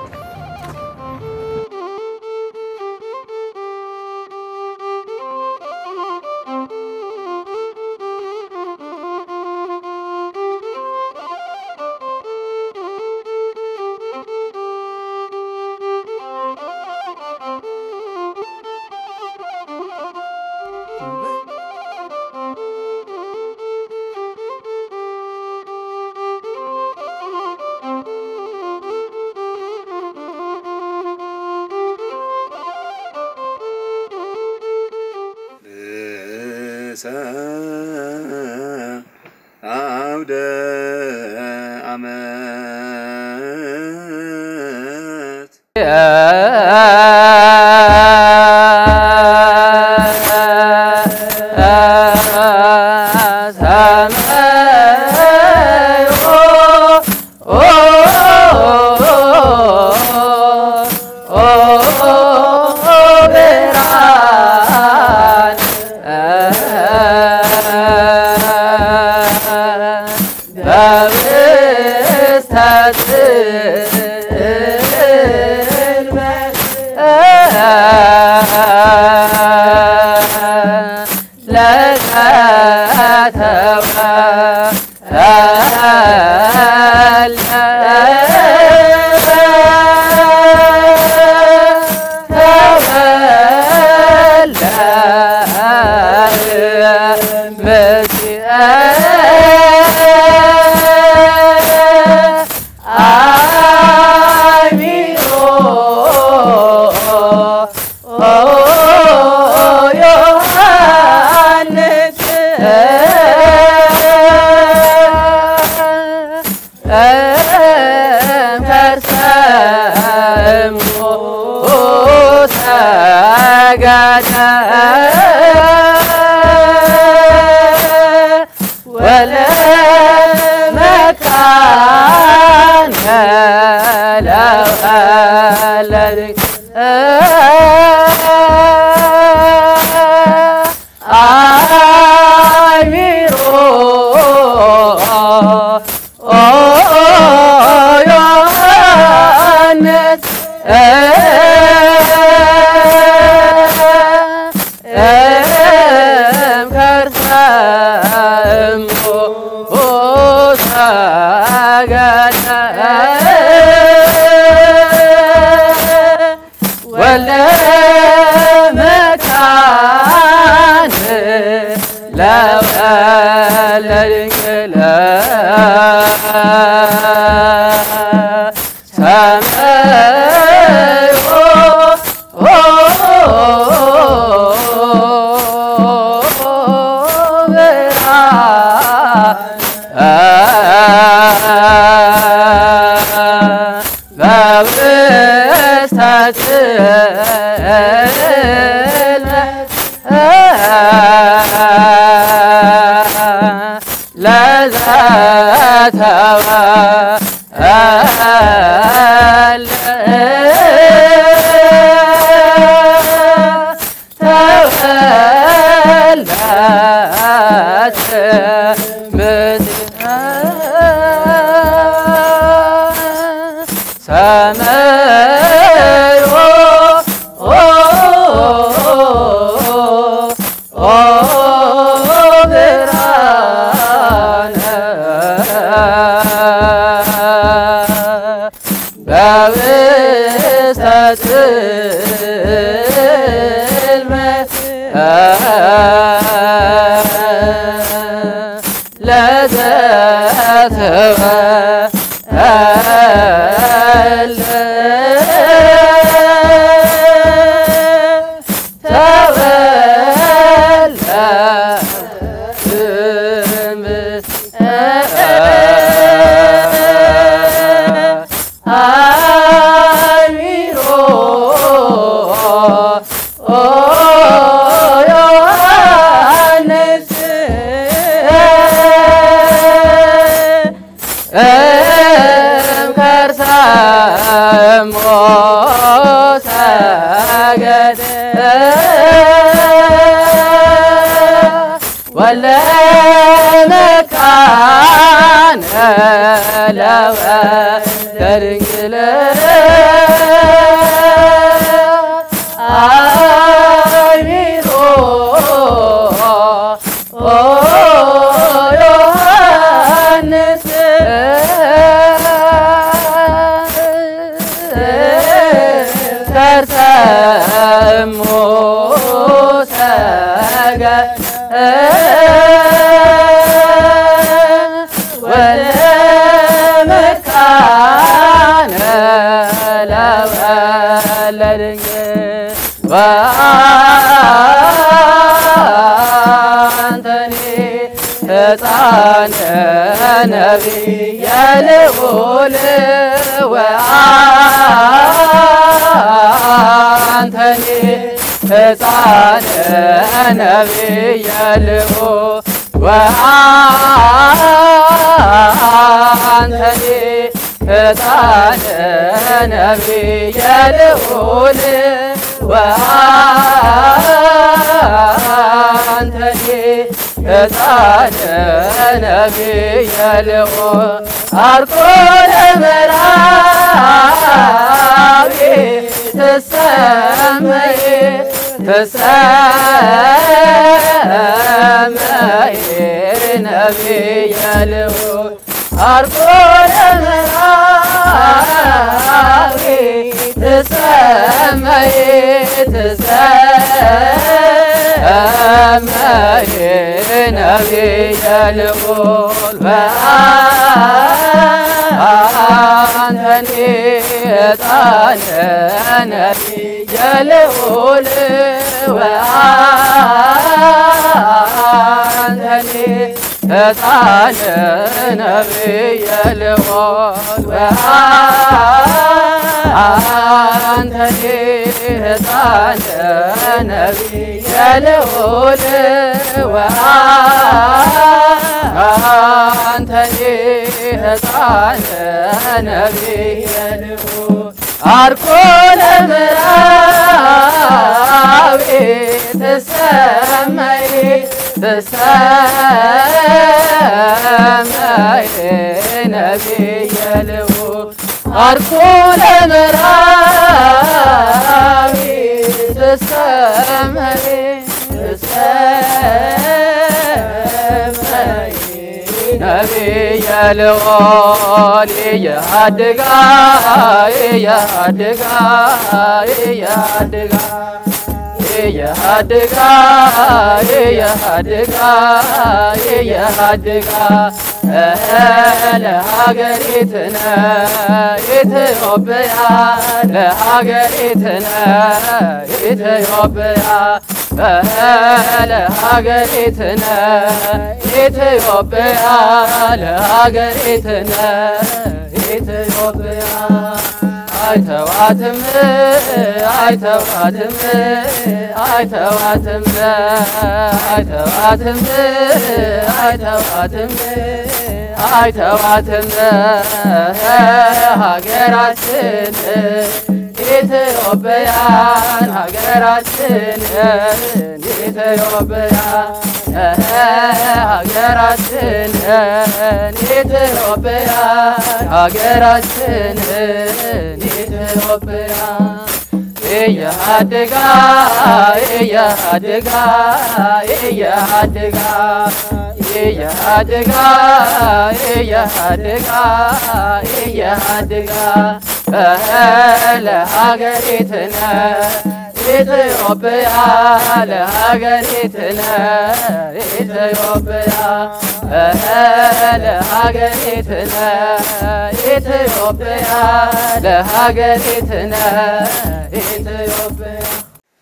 ንሰ ኣውደ ዓመት። ጽልመት ለዘተወልደ ተወልደ ምስለ ሰማዮ ኦ ብርሃነ በውስተ ጽልመት ለዘተወልደ ተወልደ እምነ አሚሮ ኦ ዮሐንስ እምከርሰ እሞ ሰገደ ወለ መካነ ለወ ለድንግል አሚሮ ኦ ዮሐንስ ከርሰ እሙ ሰገ ወለመካነ ለወለድንግል ወአንተኒ ሕፃን ነቢየ ልዑል ወአንተኒ ሕፃን ነቢየ ልዑል ወአንተኒ ሕፃን ነቢየ ልዑል ወአንተኒ ሕፃን ነቢየ ልዑል አርኮ ለመራዊ ትሰመይ ትሰመይ ነቢየ ልዑል አርኮ ለመራዊ ትሰመይ ትሰመይ ነቢየ ልዑል ወአንተኒ ሕፃን ነቢየ ልዑል ወአንተኒ ሕፃን ነቢየ ልዑል ወአንተኒ ሕፃን ነቢየ ልዑል ወአንተኒ ሕፃን ነቢየ ልዑል አርኮ ለመራዊ ትሰመይ ትሰመይ ነቢየ ልዑል አርኮ ለመራዊ ትሰመይ ትሰመይ ነቢየ ልዑል የአድጋ የአድጋ የአድጋ የአድጋ የአድጋ የአድጋ ለሀገሪትነ ኢትዮጵያ ለሀገሪትነ ኢትዮጵያ ለሀገሪትነ ኢትዮጵያ ለሀገሪትነ ኢትዮጵያ ኣይተዋትም ኣይተዋትም ኣይተዋትም ኣይተዋትም ኣይተዋትም ኣይተዋትም ሃገራችን ኢትዮጵያን ሃገራችንን ኢትዮጵያን ሃገራችንን ኢትዮጵያን ሃገራችንን ኢትዮጵያን እያድጋ እያድጋ እያድጋ እያድጋ እያድጋ እያድጋ ለሀገሪትነ ኢትዮጵያ ለሀገሪትነ ኢትዮጵያ ለሀገሪትነ ኢትዮጵያ ለሀገሪትነ ኢትዮጵያ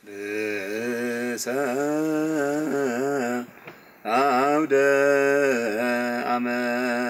ርእሰ አውደ አመት